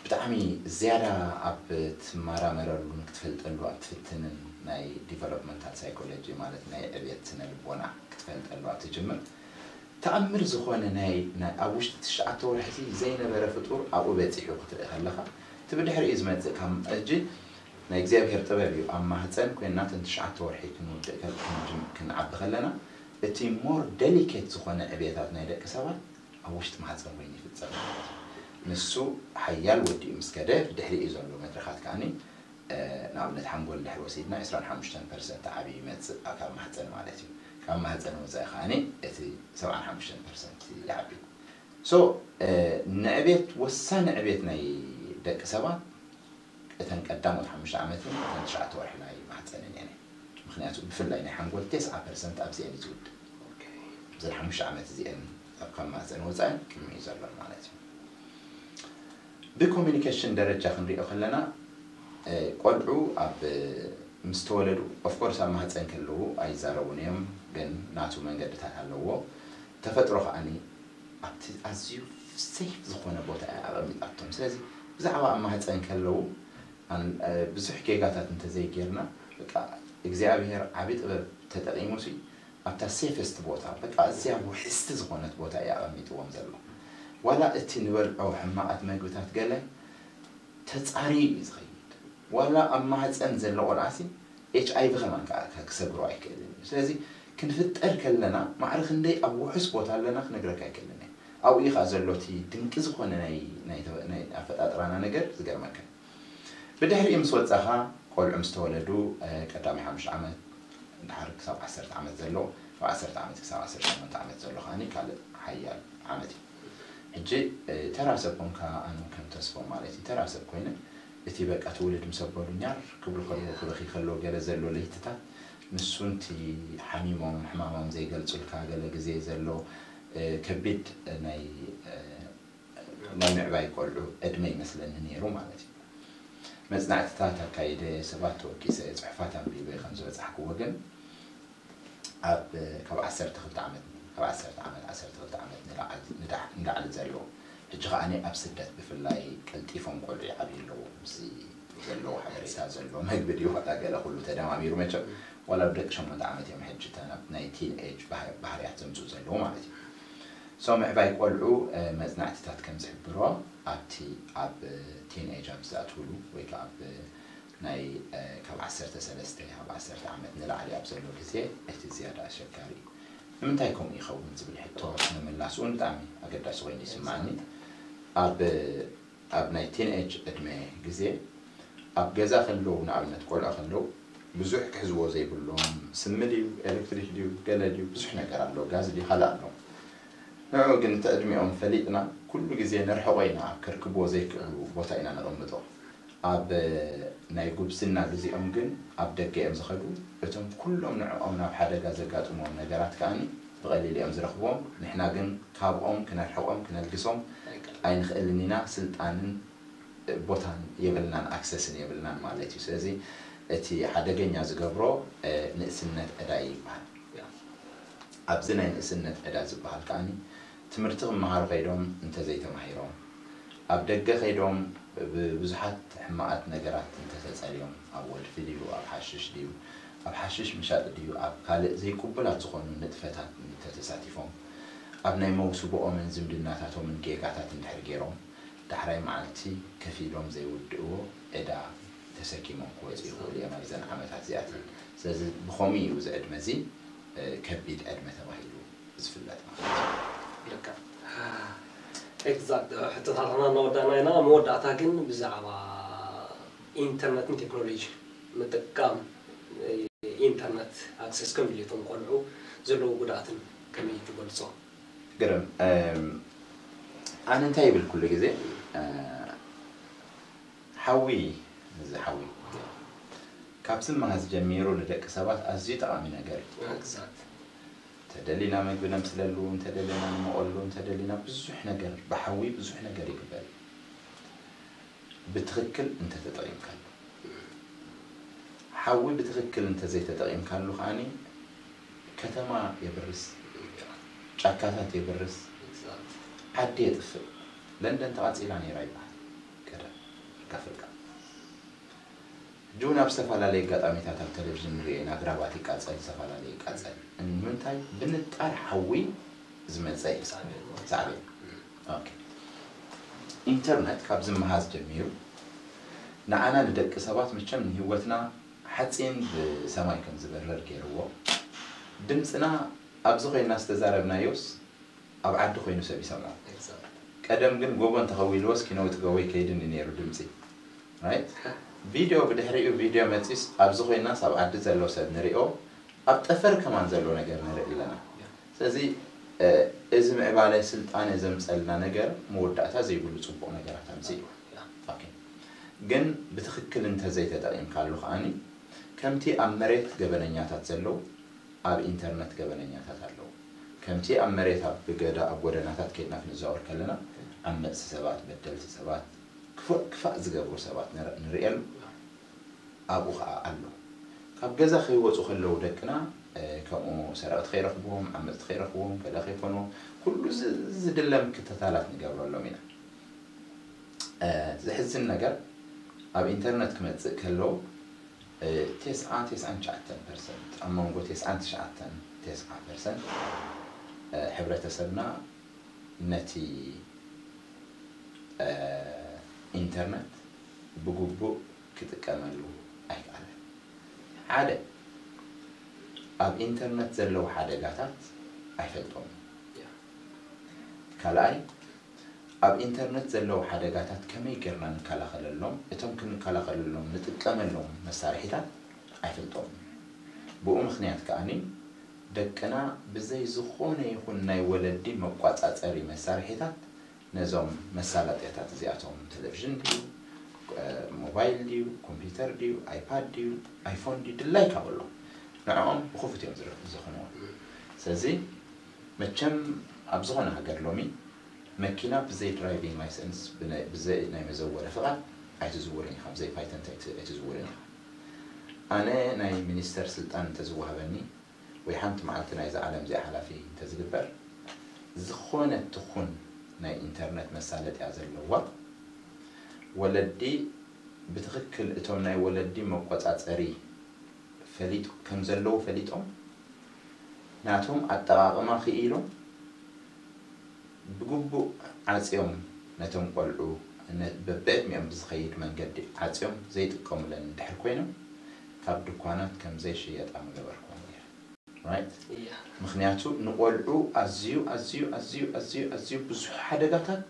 ብጣዕሚ ዝያዳ ኣብ ትመራመረሉን ክትፈልጠሉ ኣብ ትፍትንን ናይ developmental psychology ማለት ናይ ዕብየት ስነ ልቦና ክትፈልጠሉ ኣብ ትጅምር ተኣምር ዝኾነ ናይ ኣብ ውሽጢ ትሽዓተ ወርሒ ዘይነበረ ፍጡር ኣብኡ በፂሑ ክትርኢ ከለኻ እቲ ብድሕሪኡ ዝመፅእ ካብ ሕጂ ናይ እግዚኣብሔር ጥበብ እዩ ኣብ ማህፀን ኮይና ተን ትሽዓተ ወርሒ ክንውድእ ክንዓቢ ከለና እቲ more delicate ዝኾነ ዕብየታት ናይ ደቂ ሰባት ኣብ ውሽጢ ማህፀን ኮይኑ ይፍፀም ማለት እዩ። ንሱ ሓያል ወዲኡ ምስ ከደ ብድሕሪኡ ዘሎ መድረኻት ከዓኒ ንኣብነት ሓንጎል ድሕሪ ወሲድና ዕስራን ሓሙሽተን ፐርሰንት ዓብዩ ይመፅእ ካብ ማህፀን ማለት እዩ። ካብ ማህፀን ወፃኢ ከዓኒ እቲ ሰብዓን ሓሙሽተን ፐርሰንት ይዓቢ። ሶ ንዕቤት ወሳኒ ዕቤት ናይ ደቂ ሰባት እተን ቀዳሞት ሓሙሽተ ዓመትን እተን ትሽዓተ ወርሒ ናይ ማህፀንን እየን ምክንያቱ ብፍላይ ናይ ሓንጎል ተስዓ ፐርሰንት ኣብዚአን እዩ ዝውድእ እዘን ሓሙሽተ ዓመት እዚአን ካብ ማህፀን ወፃእን ቅድሚ እዩ ዘሎን ማለት እዩ ብኮሚኒኬሽን ደረጃ ክንሪኦ ከለና ቆልዑ ኣብ ምስ ተወለዱ ኦፍኮርስ ኣብ ማህፀን ከለዉ ኣይዛረቡን እዮም፣ ግን ናቱ መንገድታት ኣለዎ። ተፈጥሮ ከዓኒ ኣብቲ ኣዝዩ ሴፍ ዝኾነ ቦታ እያ ኣቐሚጣቶም። ስለዚ ብዛዕባ ኣብ ማህፀን ከለዉ ብዙሕ ጌጋታት እንተዘይጌርና፣ በቃ እግዚኣብሔር ዓቢ ጥበብ ተጠቂሙ ሲ ኣብታ ሴፈስት ቦታ፣ በቃ እዚያ ውሕስቲ ዝኾነት ቦታ እያ ኣቐሚጥዎም ዘሎ። ዋላ እቲ ንበልዖ ሕማቓት መግብታት ገለ ተጻርዩ እዩ ዝኸይድ። ዋላ ኣብ ማህፀን ዘሎ ቆልዓ ሲ ኤች ኣይ ቪ ከማን ከዓ ክሰግሮ ኣይክእልን እዩ። ስለዚ ክንፍጠር ከለና ማዕረ ክንደይ ኣብ ውሑስ ቦታ ኣለና ክነግረካ ኣይክእልን እየ። ኣብኡ እዩ ከዓ ዘሎ እቲ ድንቂ ዝኾነ ናይ ኣፈጣጥራና ነገር ዝገርመካ። ብድሕሪኡ ምስ ወፃኻ ቆልዑ ምስ ተወለዱ ቀዳሚ ሓሙሽተ ዓመት ድሓር ክሳብ ዓሰርተ ዓመት ዘሎ፣ ካብ ዓሰርተ ዓመት ክሳብ ዓሰርተ ሸሞንተ ዓመት ዘሎ ከዓኒ ካልእ ሓያል ዓመት እዩ። ሕጂ ተራ ሰብ ኮንካ ኣነ ከም ተስፎ ማለት እዩ ተራ ሰብ ኮይነ እቲ በቃ ትውልድ ምስ ኣበሉ ኛር ክብሉ ከለዉ ክበኺ ከለዉ ገለ ዘሎ ለይትታት ንሱ ንቲ ሓሚሞም ሕማሞም ዘይገልጹልካ ገለ ግዜ ዘሎ ከቢድ ናይ ናይ ምዕባይ ቆልዑ ዕድመ ይመስለኒ ነይሩ ማለት እዩ። መጽናዕትታት ኣካይደ፣ ሰባት ተወኪሰ፣ ጽሑፋት ኣንቢበ ከም ዝበጻሕክዎ ግን ኣብ ካብ ዓሰርተ ክልተ ዓመት ካብ ዓሰርተ ዓመት ዓሰርተ ክልተ ዓመት ንላዕሊ ንዳሕ- ንላዕሊ ዘሎ ሕጂ ከዓኒ ኣብ ስደት ብፍላይ ቀልጢፎም ቆልዑ ይዓብዩ ኣለዉ። ኣብዚ ዘለዎ ሓበሬታ ዘሎ መግቢ ድዩ ዋላ ገለ ኩሉ ተደማሚሩ መቸም ዋላ ብደቂ ሸሞንተ ዓመት እዮም ሕጂ እታ ናብ ናይ ቲን ኤጅ ባህርያት ዘምፅኡ ዘለዉ ማለት እዩ። ሶ ምዕባይ ቆልዑ መፅናዕትታት ከም ዝሕብሮ ኣብቲ ኣብ ቲን ኤጅ ኣብ ዝኣትውሉ ወይ ከዓ ኣብ ናይ ካብ ዓሰርተ ሰለስተ ካብ ዓሰርተ ዓመት ንላዕሊ ኣብ ዘሎ ግዜ እቲ ዝያዳ ኣሸጋሪ እዩ። ንምንታይ ከምኡ ይኸውን ዝብል ሕቶ ምምላስኡ ብጣዕሚ ኣገዳሲ ኮይኑ ይስማዓኒ። ኣብ ኣብ ናይ ቲን ኤጅ ዕድመ ግዜ ኣብ ገዛ ከለዉ ንኣብነት ቆልዑ ከለዉ ብዙሕ ክሕዝዎ ዘይብሎም ስሚ ድዩ ኤሌክትሪክ ድዩ ገለ ድዩ ብዙሕ ነገር ኣሎ ጋዝ ድዩ ካልእ ኣሎ። ንዕኡ ግን እቲ ዕድሚኦም ፈሊጥና ኩሉ ግዜ ነርሕቖ ኢና ኣብ ከርክብዎ ዘይክእሉ ቦታ ኢና ነቐምጦ። ኣብ ናይ ጉብዝና ግዜኦም ግን ኣብ ደገ እዮም ዝኸዱ። እቶም ኩሎም ንዕኦም ናብ ሓደጋ ዘጋጥምዎም ነገራት ከኣ ብቐሊሉ እዮም ዝረኽብዎም። ንሕና ግን ካብኦም ክነርሕቖም ክነልግሶም ኣይንኽእልን ኢና። ስልጣንን ቦታን የብልናን ኣክሰስን የብልናን ማለት እዩ። ስለዚ እቲ ሓደገኛ ዝገብሮ ንእስነት ዕዳ እዩ ይበሃል። ኣብዚ ናይ ንእስነት ዕዳ ዝበሃል ከኣ ትምህርቲ ክመሃሩ ከይዶም እንተዘይተማሂሮም፣ ኣብ ደገ ከይዶም ብብዙሓት ሕማቓት ነገራት እንተተጸልዮም፣ ኣብ ወልፊ ድዩ፣ ኣብ ሓሽሽ ድዩ፣ ኣብ ሓሽሽ ምሻጥ ድዩ፣ ኣብ ካልእ ዘይቅቡላት ዝኾኑ ንጥፈታት እንተተሳቲፎም፣ ኣብ ናይ መውስቦኦምን ዝምድናታቶምን ጌጋታት እንድሕር ገይሮም፣ ዳሕራይ መዓልቲ ከፊሎም ዘይውድእዎ ዕዳ ተሰኪሞም ክወፁ ይኽእሉ እዮም ኣብዘን ዓመታት እዚኣተን። ስለዚ ብኸምኡ እዩ እዚ ዕድመ እዚ ከቢድ ዕድመ ተባሂሉ ዝፍለጥ ማለት እዩ። ልክዕ። ኤግዛክት። ሕቶታትና እናወዳእና ኢና። መወዳእታ ግን ብዛዕባ ኢንተርነትን ቴክኖሎጂ ምጥቃም ኢንተርነት ኣክሰስ ከም ድልየቶም ቆልዑ ዘለዎ ጉድኣትን ከመይ ትገልጾ? ግርም። ኣነ እንታይ ይብል ኩሉ ግዜ ሓዊ እዚ ሓዊ ካብ ዝመሃዝ ጀሚሩ ንደቂ ሰባት ኣዝዩ ጠቓሚ ነገር እዩ። ተደሊና ምግቢ ነምስለሉ፣ እንተደለና ንመቐሉ፣ እንተደሊና ብዙሕ ነገር ብሓዊ ብዙሕ ነገር ይግበር እዩ። ብትኽክል እንተተጠቒምካሉ። ሓዊ ብትኽክል እንተዘይተጠቒምካሉ ከዓኒ ከተማ የብርስ፣ ጫካታት የብርስ፣ ዓዲ የጥፍእ። ለንደን ተቓጺላ ነይራ ይበሃል ቀደም ኣፍሪቃ። ሕጂ እውን ኣብ ዝተፈላለዩ ኣጋጣሚታት ኣብ ቴሌቪዥን ንሪኦ ኢና፣ ኣግራባት ይቃጸል፣ ዝተፈላለዩ ይቃጸል። ንምንታይ? ብንጣር ሓዊ ዝመፀ እዩ። ሳዕቤን። ኦኬ። ኢንተርነት ካብ ዝመሃዝ ጀሚሩ ንዓና ንደቂ ሰባት መቸም ንህይወትና ሓፂን ብሰማይ ከም ዝበርር ገይርዎ። ድምፅና ኣብዚ ኮይና ዝተዛረብናዮስ ኣብ ዓዲ ኮይኑ ሰብ ይሰምዖ። ቀደም ግን ጎቦ እንተኸዊልዎስ ኪነውቲ ጎቦ ይከይድን እዩ ነይሩ ድምፂ። ራይት? ቪድዮ ብድሕሪኡ ቪድዮ መፂስ ኣብዚ ኮይናስ ኣብ ዓዲ ዘሎ ሰብ ንሪኦ ኣብ ጠፈር ከማን ዘሎ ነገር ንርኢ ኣለና። ስለዚ እዚ ምዕባለ ስልጣነ ዘምፀልና ነገር መወዳእታ ዘይብሉ ፅቡቕ ነገራት ኣምፅእ እዩ። ግን ብትኽክል እንተዘይተጠቒምካሉ ከዓኒ ከምቲ ኣብ መሬት ገበነኛታት ዘለዉ ኣብ ኢንተርነት ገበነኛታት ኣለዉ። ከምቲ ኣብ መሬት ኣብ ብገዳ ኣብ ጎደናታት ከይድና ክንዘዋወር ከለና ዓመፅቲ ሰባት፣ በደልቲ ሰባት፣ ክፉእ ክፋእ ዝገብሩ ሰባት ንር- ንርእየሉ። ኣብኡ ከዓ ኣሎ። ካብ ገዛ ከይወፁ ከለዉ ደቅና ከምኡ ሰረቕቲ ከይረኽብዎም፣ ዓመፅቲ ከይረኽብዎም፣ ገለ ከይኮኑ፣ ኩሉ ዝድለ ምክትታላት ንገብረሎም ኢና። ዘሕዝን ነገር፣ ኣብ ኢንተርነት ክመፅእ ከለዉ፣ ተስዓ፣ ተስዓን ትሽዓተን ፐርሰንት፣ ኣብ መንጎ ተስዓን ትሽዓተን፣ ተስዓ ፐርሰንት ሕብረተሰብና ነቲ ኢንተርነት ብግቡእ ክጥቀመሉ ኣይከኣለን። ሓደ፣ ኣብ ኢንተርነት ዘለዉ ሓደጋታት ኣይፈልጦምን። ካልኣይ፣ ኣብ ኢንተርነት ዘለዉ ሓደጋታት ከመይ ጌርና ንከላኸለሎም፣ እቶም ክንከላኸለሎም ንጥቀመሎም መሳርሒታት ኣይፈልጦምን። ብኡ ምኽንያት ከኣኒ ደቅና ብዘይ ዝኾነ ይኹን ናይ ወለዲ መቋጻጸሪ መሳርሒታት ነዞም መሳለጥያታት እዚኣቶም፣ ቴሌቪዥን ድዩ፣ ሞባይል ድዩ፣ ኮምፒውተር ድዩ፣ ኣይፓድ ድዩ፣ ኣይፎን ድዩ፣ ድላይካ በሎ፣ ንዕኦም ብኽፉት እዮም ዝረ- ዝኾንዎም። ስለዚ መቸም ኣብ ዝኾነ ሃገር ሎሚ መኪና ብዘይ ድራይቪንግ ላይሰንስ፣ ብናይ- ብዘይ ናይ መዘወሪ ፍቓድ ኣይትዝውርን ኢኻ፣ ብዘይ ፓይተንት ኣይት- ኣይትዝውርን ኢኻ። ኣነ ናይ ሚኒስተር ስልጣን እንተዝወሃበኒ፣ ወይ ሓንቲ መዓልቲ ናይዚ ዓለም እዚኣ ሓላፊ እንተዝግበር፣ ዝኾነት ትኹን ናይ ኢንተርነት መሳለጥያ ዘለዋ፣ ወለዲ ብትኽክል እቶም ናይ ወለዲ መቆጻጸሪ ፈሊጡ ከም ዘለዉ ፈሊጦም፣ ናቶም ኣጠቓቕማ ክኢሎም፣ ብግቡእ ዓጽዮም ነቶም ቆልዑ፣ ነ- በብዕድሚኦም ብዝኸይድ መንገዲ ዓጽዮም ዘይጥቀሙለን እንድሕር ኮይኖም፣ ካብ ድኳናት ከም ዘይሽየጣ ምገበርኩወን ነይረ። Right? እያ ምኽንያቱ ንቆልዑ ኣዝዩ ኣዝዩ ኣዝዩ ኣዝዩ ኣዝዩ ብዙሕ ሓደጋታት፣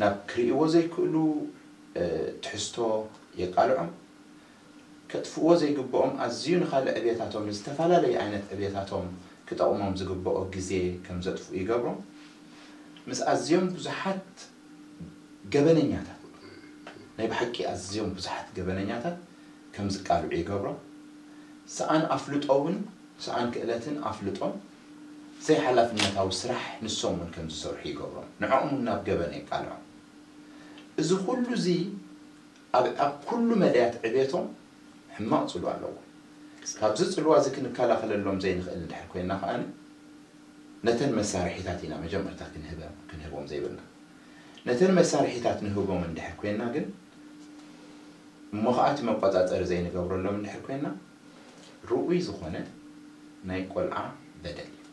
ናብ ክርእይዎ ዘይክእሉ ትሕዝቶ የቃልዖም። ከጥፍእዎ ዘይግብኦም ኣዝዩ ንኻልእ ዕብየታቶም፣ ንዝተፈላለየ ዓይነት ዕብየታቶም ክጠቕሞም ዝግብኦ ግዜ ከም ዘጥፍኡ ይገብሮም። ምስ ኣዝዮም ብዙሓት ገበነኛታት፣ ናይ ብሓቂ ኣዝዮም ብዙሓት ገበነኛታት ከም ዝቃልዑ ይገብሮም። ሰኣን ኣፍልጦ እውን፣ ሰኣን ክእለትን ኣፍልጦን ዘይሓላፍነታዊ ስራሕ ንሶም እውን ከም ዝሰርሑ ይገብሮም። ንዕኦም እውን ናብ ገበን የቃልዖም። እዚ ኩሉ እዚ ኣብ ኣብ ኩሉ መዳያት ዕቤቶም ሕማቕ ጽልዋ ኣለዎ። ካብዚ ጽልዋ እዚ ክንከላኸለሎም ዘይንኽእል እንድሕር ኮይና ከኣ፣ ነተን መሳርሒታት ኢና መጀመርታ ክንህበ- ክንህቦም ዘይብልና። ነተን መሳርሒታት ንህቦም እንድሕር ኮይና ግን፣ እሞ ከኣ እቲ መቆጻጸሪ ዘይንገብረሎም እንድሕር ኮይና፣ ርኡይ ዝኾነ ናይ ቆልዓ በደል እዩ።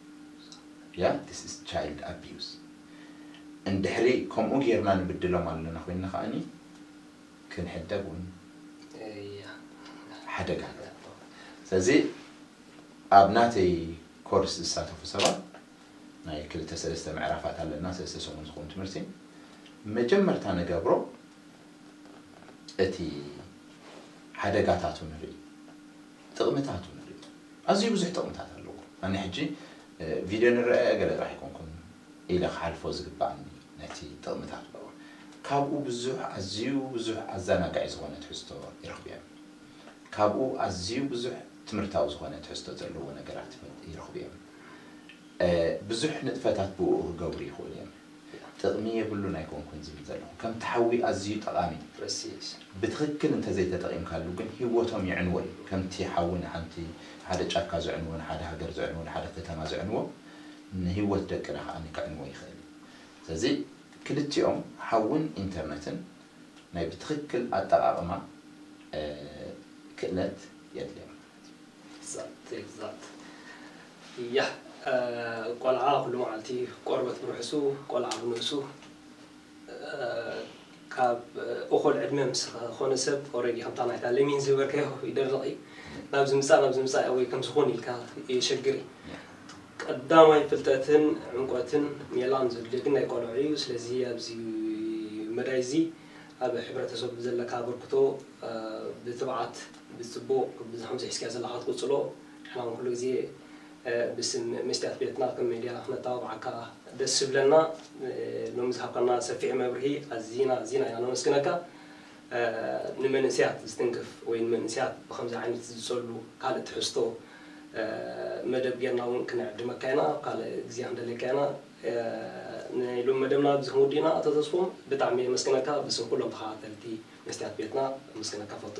ያ this is child abuse። እንድሕሪ ከምኡ ጌርና ንብድሎም ኣለና ኮይና ከኣኒ፣ ክንሕደግ እውን እያ ሓደጋ ኣሎ። ስለዚ ኣብ ናተይ ኮርስ ዝሳተፉ ሰባት፣ ናይ ክልተ ሰለስተ ምዕራፋት ኣለና፣ ሰለስተ ሰሙን ዝኸውን ትምህርቲ። መጀመርታ ንገብሮ እቲ ሓደጋታቱ ንርኢ፣ ጥቕምታቱ ንርኢ። ኣዝዩ ብዙሕ ጥቕምታት ኣለዎ። ኣነ ሕጂ እ፣ ቪድዮ ንረአ ገለ ጥራሕ ኣይኮንኩን ኢለ ክሓልፎ ዝግባኣኒ ነቲ ጥቕምታቱ። ካብኡ ብዙሕ፣ ኣዝዩ ብዙሕ ኣዘናጋዒ ዝኾነ ትሕዝቶ ይረኽቡ እዮም። ካብኡ ኣዝዩ ብዙሕ ትምህርታዊ ዝኾነ ትሕዝቶ ዘለዎ ነገራት ይረኽቡ እዮም። እ፣ ብዙሕ ንጥፈታት ብኡ ክገብሩ ይኽእሉ እዮም። ጥቕሚ የብሉን ኣይኮንኩን ዝብል ዘለኹ። ከምቲ ሓዊ ኣዝዩ ጠቓሚ እዩ። ፕረሲስ ብትኽክል እንተዘይተጠቒምካሉ ግን ህይወቶም የዕንዎ እዩ። ከምቲ ሓዊ ንሓንቲ፣ ሓደ ጫካ ዘዕንዎ፣ ንሓደ ሃገር ዘዕንዎ፣ ንሓደ ከተማ ዘዕንዎ፣ ንህይወት ደቅና ከኣ ከዕንዎ ይኽእል እዩ። ስለዚ ክልቲኦም፣ ሓውን ኢንተርነትን፣ ናይ ብትኽክል ኣጠቓቕማ እ፣ ክእለት የድልዮም። ኤግዛክት ኤግዛክት እያ። ቆልዓ ኩሉ መዓልቲ ቆርበት ብርሕሱ፣ ቆልዓ ብንእሱ፣ ካብ እኹል ዕድመ ምስ ዝኾነ ሰብ ኦረዲ ከምታ ናይታ ለሚን ዝበልካዮ ይደርቕ እዩ። ናብ ዝምፃእ ናብ ዝምፃእ ወይ ከም ዝኾን ኢልካ የሸግር እዩ። ቀዳማይ ፍልጠትን ዕምቆትን ሜላን ዘድልዮ ግን ናይ ቆልዑ እዩ። ስለዚ ኣብዚ መዳይ እዚ ኣብ ሕብረተሰብ ዘለካ ኣበርክቶ ብትብዓት ብፅቡቕ ብዚ ከምዚ ሒዝካዮ ዘለኻ ክትቅፅሎ ንሕና እውን ኩሉ ግዜ ብስም መስትያት ቤትና ከም ሜድያ ክነተባብዓካ ደስ ዝብለና። ሎሚ ዝሃብካና ሰፊሕ መብርሂ ኣዚና ኣዚና ኢና ነመስግነካ። ንመንእሰያት ዝትንክፍ ወይ ንመንእሰያት ብከምዚ ዓይነት ዝጸሉ ካልእ ትሕዝቶ መደብ ጌርና እውን ክነዕድመካ ኢና። ኣብ ካልእ ግዜ ክንደልየካ ኢና። ናይ ሎሚ መደብና ኣብዚ ክንውድእ ኢና። ኣቶ ተስፎም ብጣዕሚ የመስግነካ ብስም ኩሎም ተኸታተልቲ መስትያት ቤትና ኣመስግነካ ፈቱ።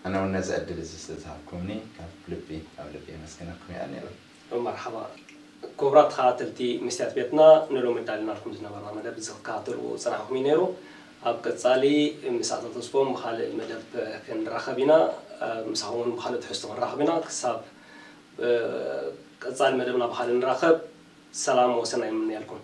ኣነ እውን ነዚ ዕድል እዚ ስለዝሃብኩምኒ ካብ ልቢ ካብ ልቢ የመስግነኩም። ይቐንየለይ። መርሓባ። ክቡራት ተኸታተልቲ መስትያት ቤትና፣ ንሎሚ ኣዳሊናልኩም ዝነበርና መደብ እዚ ክትከታተልዎ ዝጸናሕኩም እዩ ነይሩ። ኣብ ቀጻሊ ምስ ኣቶ ተስፎም ብኻልእ መደብ ክንራኸብ ኢና። ምሳኹም እውን ብኻልእ ትሕዝቶ ክንራኸብ ኢና። ክሳብ ቀጻሊ መደብና ብኻልእ ንራኸብ። ሰላም ወሰናይ ይምነየልኩም።